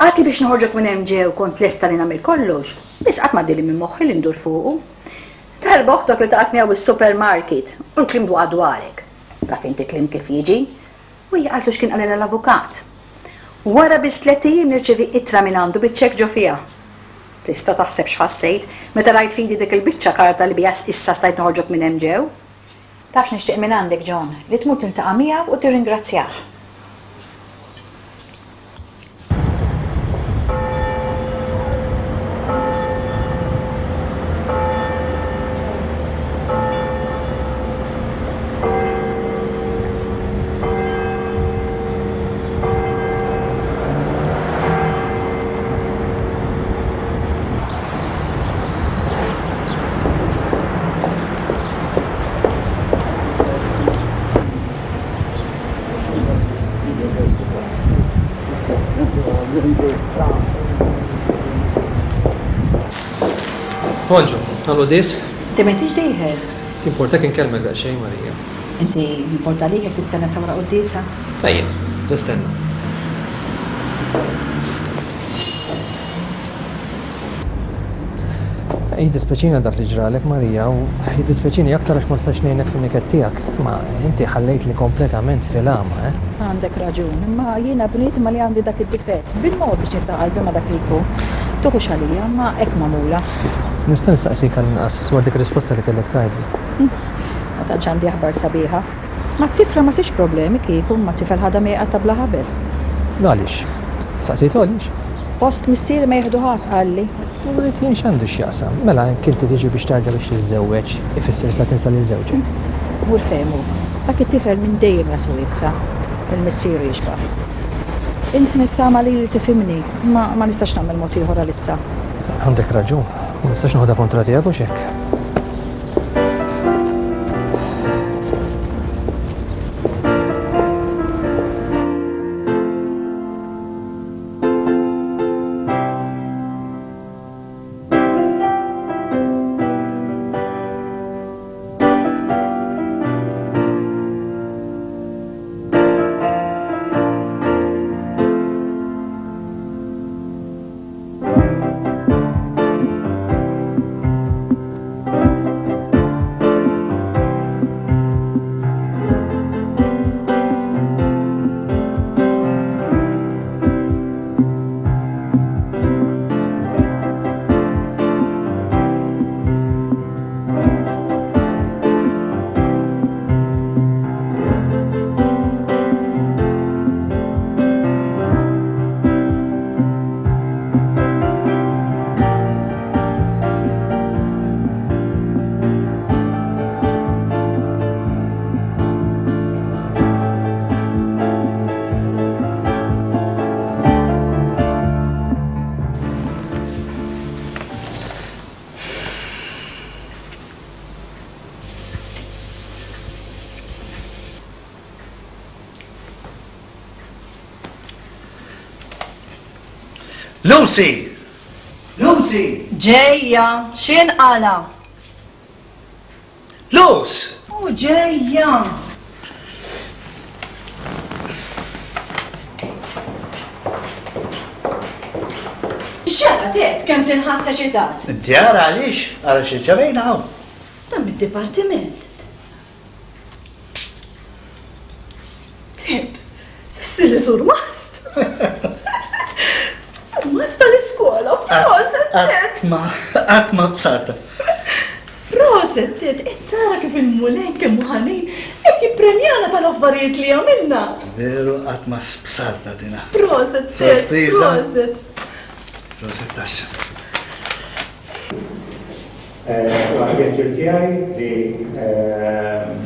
Qatt li biex noħorġok minn hemm ġew kont lesta li nagħmel kollox, biss qatt ma għaddili minn moħħi li ndur fuqu. Darba oħtok li taqgħet miegħu is-supermarket u l-kliem dwaqa dwarek. Taf inti kliem kif jiġi? U hija qaltlu x'kien qalilha l-avukat. Wara biss tliet ijiem nirċevi ittra minn għandu biċ-ċekk ġo fiha. Tista' taħseb x'ħassejt meta rajt f'idi dik il-biċċa karta li biha issa stajt noħorġok minn hemm ġew? Taf x'nixtieq minn għandek, John, li tmur tiltaqa' miegħu u tirringrazzjah. Bonġu, għal-quddies? Inti m'intix dieħel. Timportak inkellmek daqsxejn, Marija. Inti jimporta għalik jekk tistenna sa wara quddiesa? Ejja, nistenna. Jiddispjaċini dak li ġralek, Marija, u jiddispjaċini aktar għax ma stax ngħinek fin-niket tiegħek. Ma inti ħallejtli kompletament fil-għama, eh? Għandek raġun, imma jiena bniedma li għandi dak id-difett. Bil-mod biex niftaħ qalbi ma' dak li jkun. Tuħux għalija, ma hekk magħmula. Nista' nistaqsik għall-inqas dwar dik ir-risposta li kellek tgħidli. Ma tantx għandi aħbar sabiħa. Ma t-tifla ma sirx problemi kieku, ma t-tifel ħadha mieqa ta' bla ħabel. Għaliex? Saqsejtu għaliex? Post missieri ma jieħdu ħadd qalli. U rrid jien x'għandu x'jaqsam? Mela jekk inti tiġi biex tarda biex tiżżewweġ, ifisser sa tinsa lil żewġek. Mur fehmu, dak it-tifel minn dejjem rasu iebsa, il-missieru jixbah. Int nittama li tifhimni, ma ma nistax nagħmel mod ieħor għalissa. Għandek raġun, ma nistax noħodha kontra tiegħek u x'hekk. Lucy! Lucy! Ġejja, x'inqala? Luz! U ġejja! X'ġara Ted kemm tinħass eċitat? Inti ara għaliex, ara xi ġarejna hawn. Dan mid-dipartiment. Ted, se ssir surmast. Surmast tal-iskola, proset Ted. Qatt ma, qatt ma bsarta. Proset Ted, qed tara kif il-Mulej kemm hu ħanin qed jippremjana tal-affarijiet li għamilna. Veru qatt ma bsarta dina. Proset Ted, Sorpriża. proset. Proset tassew. Huwa pjaċir tiegħi li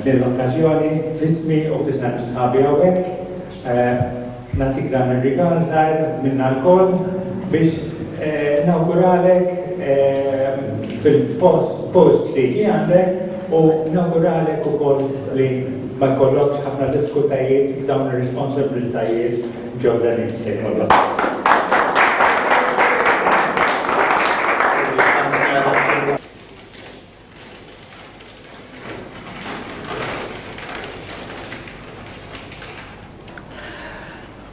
din l-okkażjoni f'ismi u f'isem sħabi hawnhekk nagħtik dan ir-rigal żgħir minna lkoll biex nawguralek fil-post post li għandek u nawguralek ukoll li ma jkollokx ħafna diffikultajiet f'dawn ir-responsabbiltajiet ġodda li se jkollok.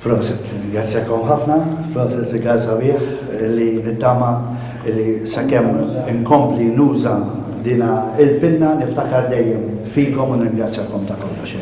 Proset, ringrazzjakom ħafna, proset rigal sabiħ li nittama li sakemm inkompli nuża dina il-pinna niftakar dejjem fikom u nirringrazzjakom ta' kollox.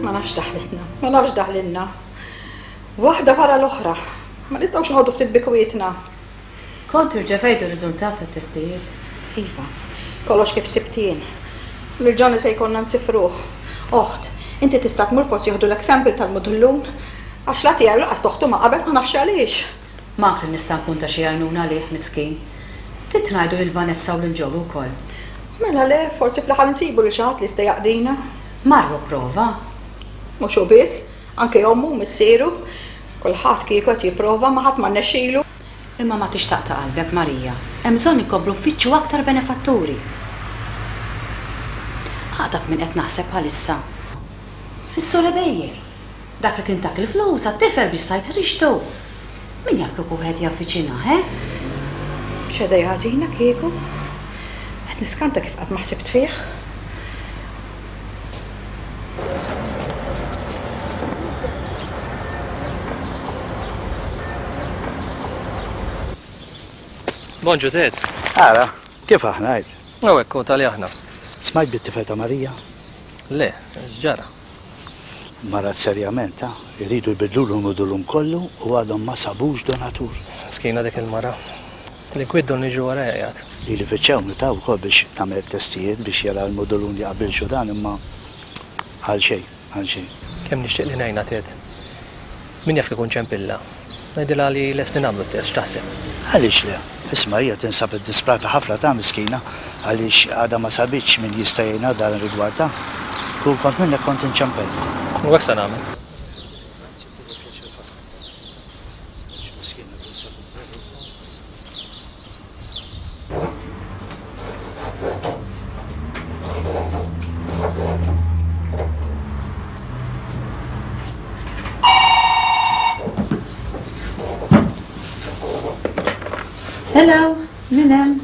Ma nafx daħlitna, ma nafx daħlilna. Waħda wara l-oħra. Ma nistgħux noqogħdu ftit bikwietna. Kont irċevejtu r-riżultat tat-testijiet? Iva, kollox kif sibtien. Lil Johnny se jkollna nsifruh. Oħt, inti tista' tmur forsi jieħdulek sample tal-mudullun. Għax la tiegħu laqas toħtu ma qabel ma nafx għaliex. Ma kien nista' nkun ta' xi għajnuna għalih miskin. Trid ngħidu lil Vanessa u lil Joe wkoll. Mela le, forsi fl-aħħar nsibu lil xi ħadd li jista' jaqdina. Marru prova. Mhux hu biss, anke ommu u missieru. Kulħadd kieku qed jipprova ma ħadd ma rnexxielu. Imma ma tixtaq ta' qalbek Marija. Hemm bżonn inkomplu nfittxu aktar benefatturi. Għadaf min qed naħseb bħalissa. Fis-Sur Ebejer. Dak li kien tak il-flus għat-tifel biex sajt ħriġtu. Min jaf kieku wieħed javviċinah, eh? X'għedej ħażina kieku. Qed niskanta kif qatt ma ħsibt fih. Bonġu Ted. Ara, kif aħna għid? Hawnhekk hu tali aħna. Smajt bit-tifel ta' Marija? Le, x'ġara? Marad serjament, ha? Iridu jbiddlulu l-mudulun kollu u għadhom ma sabux donatur. Skina dik il-mara. L-inkwit don niġu wara jgħid. Li li fittxewni ta' wkoll biex nagħmel testijiet biex jara l-mudulun jaqbilx u dan imma għal xejn, għal xejn. Kemm nixtieq li ngħinha Ted. Min jaf kikun ċempilla. Ngħidilha li lesti nagħmlu t-test, x'taħseb? Għaliex le? Isma' hija tinsab iddisprata ħafna ta' miskina għaliex għadha ma sabitx min jista' jgħinha dan ir-rigward ta'. Kieku kont minnek kont inċempel. U hekk se nagħmel. Hello, min hemm?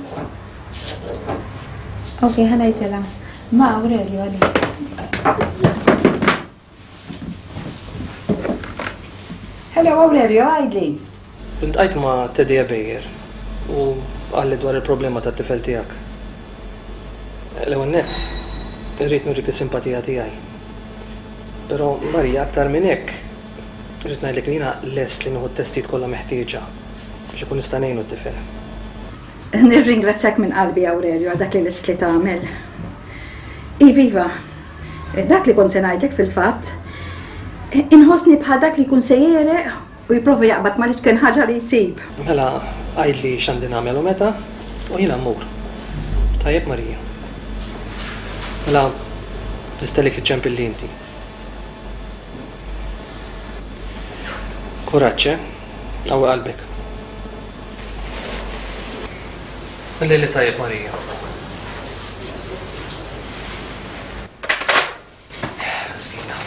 Ok, ħa ngħidilha. Ma Aurelio għalik. Hello Aurelio, għidli. Iltqajt ma' Teddy Ebejer u qalli dwar il-problema tat-tifel tiegħek. L-ewwel nett, irrid nurik is-simpatija tiegħi. Però Marija aktar minn hekk, Irrid ngħidlek li jiena lest li nieħu t-testijiet kollha meħtieġa biex ikun nista' ngħinu t-tifel. Nirringrazzjak minn qalbi Aurelio għal dak li lest li tagħmel. Iva, iva, dak li kont se ngħidlek fil-fatt. Inħossni bħal dak li jkun se jegħreq u jipprova jaqbad mal-iċken ħaġa li jsib. Mela għidli x'għandi nagħmel u meta u jiena mmur. Tajjeb Marija. Mela nistennik iċċempilli inti. Kuraġġ, eh? Qawwi qalbek. Il-lejl it-tajjeb Marija. Miskina.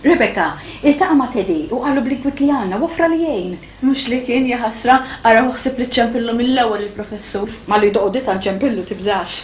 Rebecca, iltaqa' ma' Teddy u qallu bl-inkwiet li għandna u offra li jgħin. Mhux li kien, jaħasra, ara hu ħsieb li ċċempillu mill-ewwel il-professur. Malli jdoqqu disa' nċempillu, tibżax.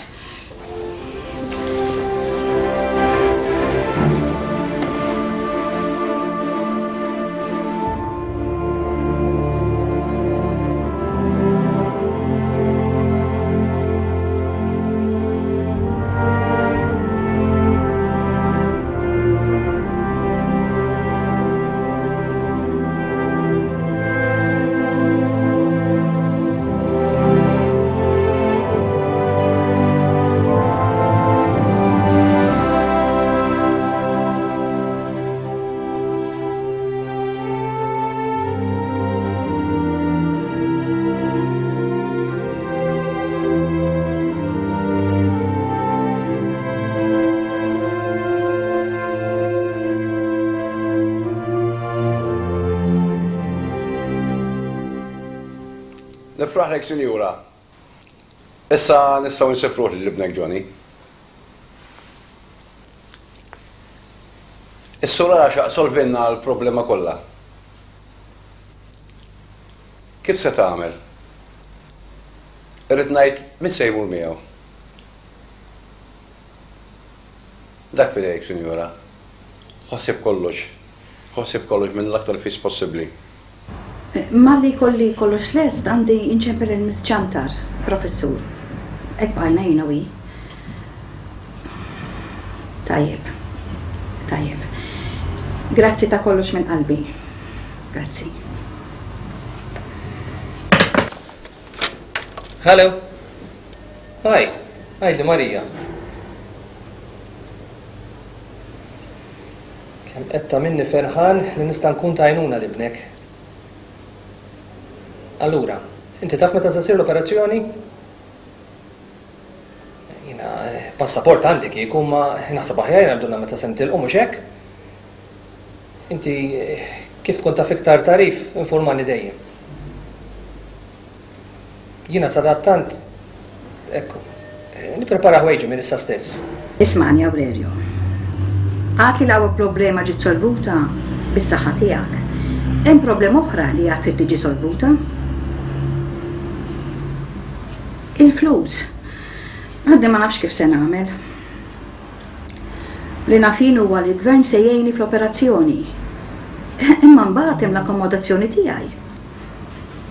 Nifraħlek, sinjura. Issa nistgħu nsifruh lil ibnek Johnny. Is-sur Għaxaq solvinna l-problema kollha. Kif se tagħmel? Irrid ngħid min se jmur miegħu. Dak f'idejk, sinjura. Ħossib kollox. Ħossib kollox minn l-aktar fis possibbli. Malli jkolli kollox lest għandi nċempel lil Miss Ciantar, professur. Hekk bqajna jiena u hi. Tajjeb. Tajjeb. Grazzi ta' kollox minn qalbi. Grazzi. Hello. Hi. Għidli Marija. Kemm qed tagħmilni ferħan li nista' nkun ta' għajnuna l-ibnek. Allura, inti taf meta se ssir l-operazzjoni? Jiena passaport għandi kieku ma naħseb aħjar jgħidulna meta se nitilqu mhux hekk? Inti kif tkun taf iktar tarif informani dejjem. Jiena sadattant, ekku, nipprepara ħwejġi minn issa stess. Ismani Aurelio. Għad li l-ewwel problema ġiet solvuta bis-saħħa tiegħek. Hemm problema oħra li għad trid tiġi solvuta. Il-flus. Għadni ma nafx kif se nagħmel. Li naf jien huwa li l-gvern se jgħinni fl-operazzjoni. Imma mbagħad hemm l-akkomodazzjoni tiegħi.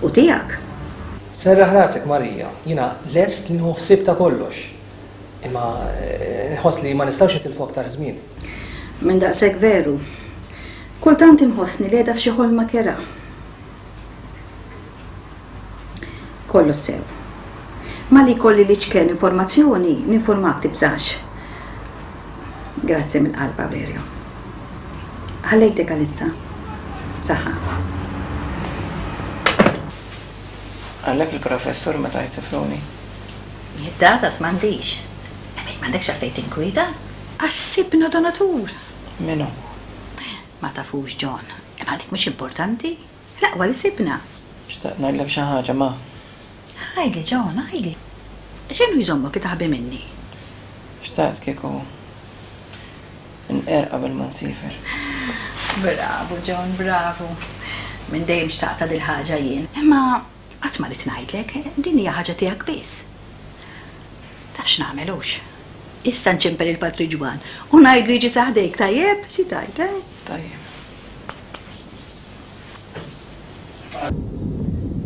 U tiegħek. Serraħ rasek Marija, jiena lest li nieħu ħsieb ta' kollox. Imma nħoss li ma nistgħux nitilfu aktar żmien. Minn daqshekk veru. Kultant inħossni li qiegħda f'xi ħolma kerha. Kollox sew. Ma li jkolli li ċken informazzjoni, ninformak tibżax. Grazzi mill-qalb, Aurelio. Ħallejtek għalissa. Saħħa. Għallek il-professur meta jsifruni. Id-data m'għandix. Imma m'għandekx għalfejn tinkwieta? Għax sibna donatur. Minu? Ma tafux, John. Imma dik mhux importanti. L-aqwa li sibna. Xtaqt ngħidlek xi ħaġa, ma. Għidli, John, għidli. X'inhu jżommok li taħbi minni? Xtaqt kieku nqer qabel ma nsifer. Bravo, John, bravo. Minn dejjem xtaqta dil ħaġa jien. Imma qatt ma rid ngħidlek, din hija ħaġa tiegħek biss. Taf x'nagħmel hux? Issa nċempel il-Patri Ġwan u ngħidlu jiġi saħdejk, tajjeb? Xi tajt, eh? Tajjeb.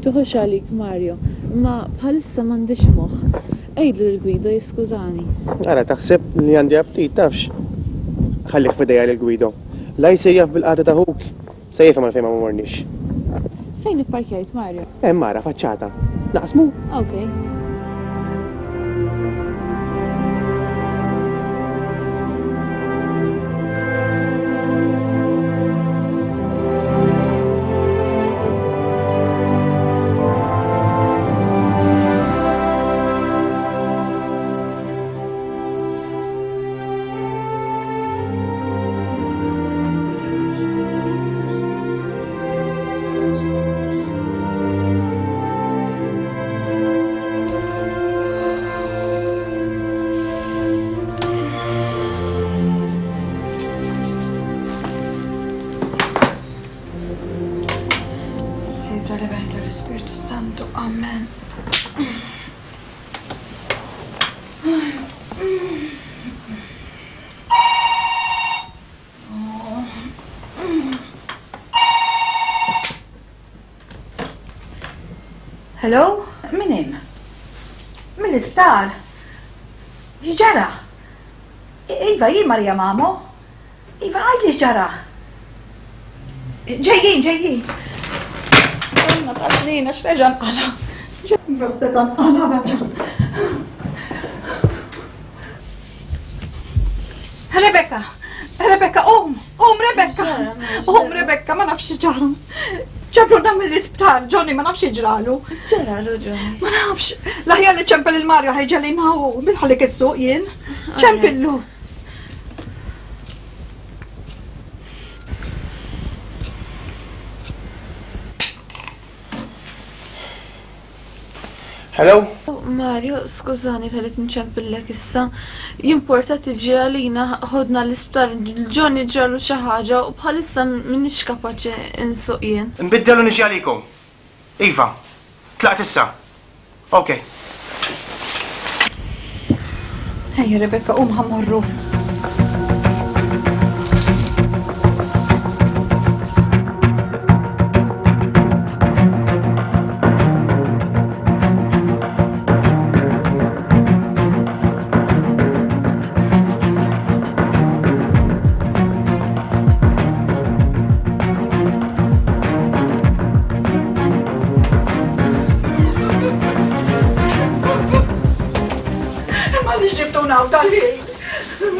Tuħux għalik, Mario, imma bħalissa m'għandix moħħ. Għidlu lil Guido jiskużani. Ara taħseb li għandi aptit, tafx? Ħallih f'idejja lil Guido. La jsir jaf bil-qagħda ta' ħuk, se jifhem għalfejn ma morniex. Fejn ipparkjajt, Mario? Hemm ara faċċata. Naqsmu? Okay. Hello? Min hemm? Mill-isptar? X'ġara? Iva, jien Marija Mamo. Iva, għidli x'ġara. Ġejjin, ġejjin. Għanna taxlina, x'reġa' nqala. Rosseta nqala reġa'. Rebecca, Rebecca, qum, qum Rebecca. Qum Rebecca, ma nafx x'ġara. Ġabruna mill-isptar, Johnny, ma nafx ġralu. Ġralu, Johnny? Ma nafx. L-aħjar li ċempel il-Mario ħajġelina u bitħallik is-suq jien. Ċempillu. Hello? Mario, skużani tal-li nċempillek issa. Jimporta tiġi għalina ħodna l-isptar, Johnny ġralu xi ħaġa u bħalissa m'iniex kapaċi nsuq jien. Nbiddel u niġi għalikom. Iva, tlaqt issa. Ok. Ejja Rebecca, qum ħa mmorru.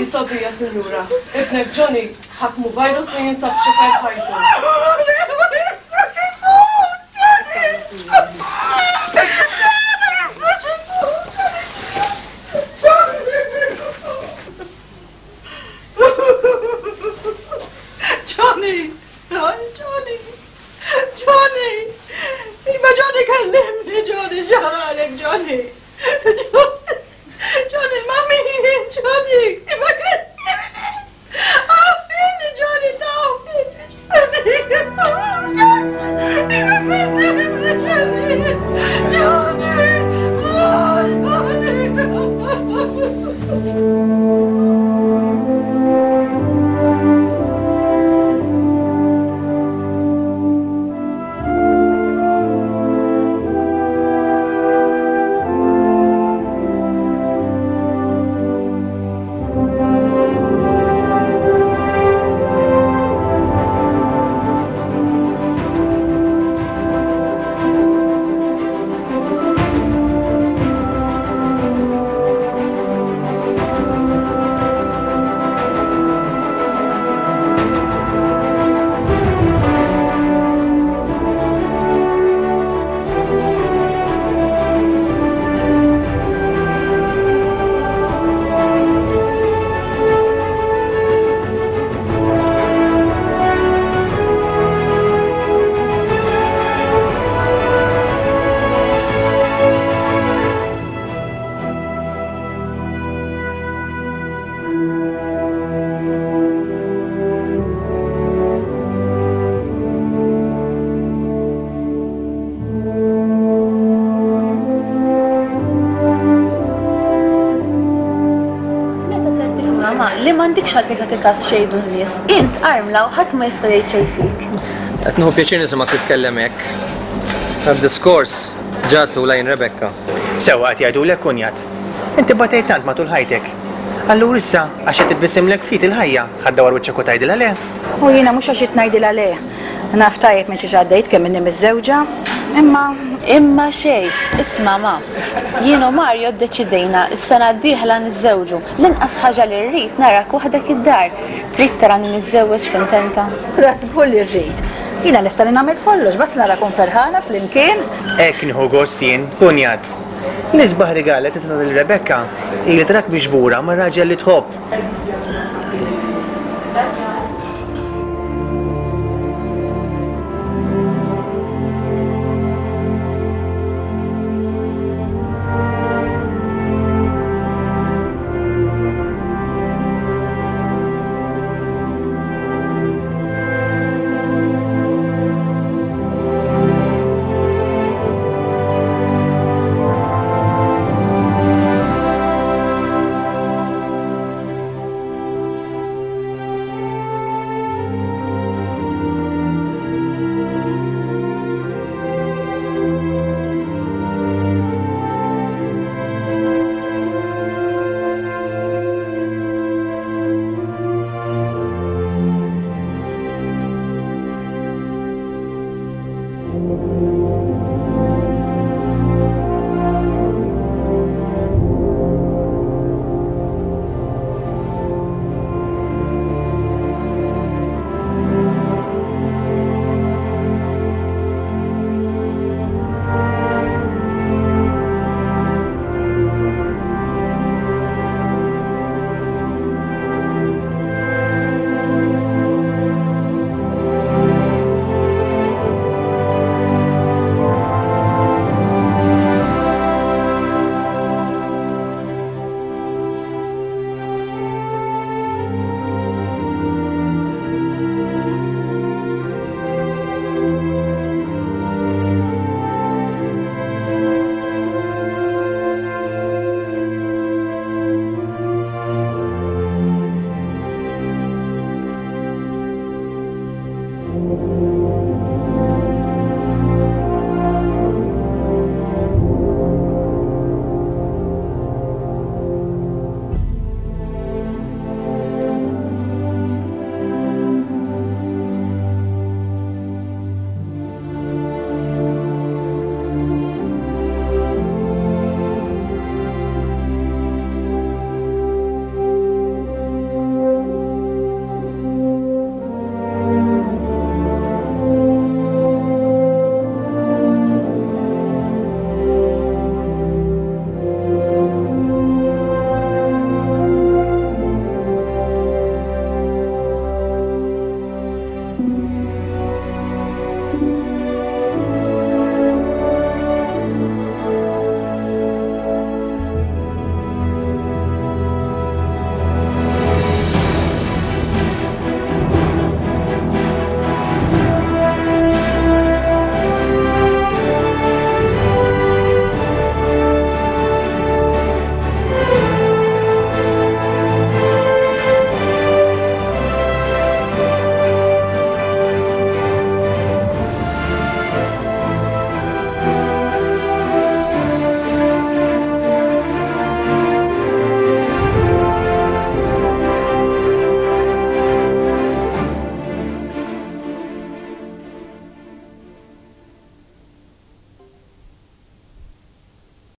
Jisobija, sinjura. Ibnek Johnny ħakmu virus li jinsab xifajt ħajtu. Johnny! Johnny! Johnny! Iva Johnny kellimni, Johnny, ġaralek, Johnny! Johnny, mami, Johnny, iva kellimni! Għafili, Johnny, tawfili, Johnny! Iva kellimni, Johnny! Johnny! Johnny! Li m'għandikx għalfejn tagħti każ xejdu n-nies. Int armla u ħadd ma jista' jgħid xejn fik. Qed nieħu pjaċir nisimgħek titkellem hekk. Tad-diskors ġatu lejn Rebecca. Sewwa qed jgħidulek kunjat. Inti batejt tant matul ħajtek. Allura issa, għax qed titbissimlek ftit il-ħajja, ħa ddawwar wiċċek u tgħidilha le? U jiena mhux għax qed ngħidilha le. Naf tajjeb minn xiex għaddejt kemm inni miżżewġa, imma. Imma xejn, isma' ma. Jien u Mario ddeċidejna s-sena d-dieħla niżżewġu. L-inqas ħaġa li rrid narak waħdek id-dar. Trid tarani niżżewweġ kuntenta? Da żgur li rrid. Jiena lesta li nagħmel kollox, basta narakom ferħana flimkien. Hekk nieħu gost jien, kunjat. L-isbaħ rigal li tista' tagħti lil Rebecca hi li tarak miġbura ma' raġel li tħobb.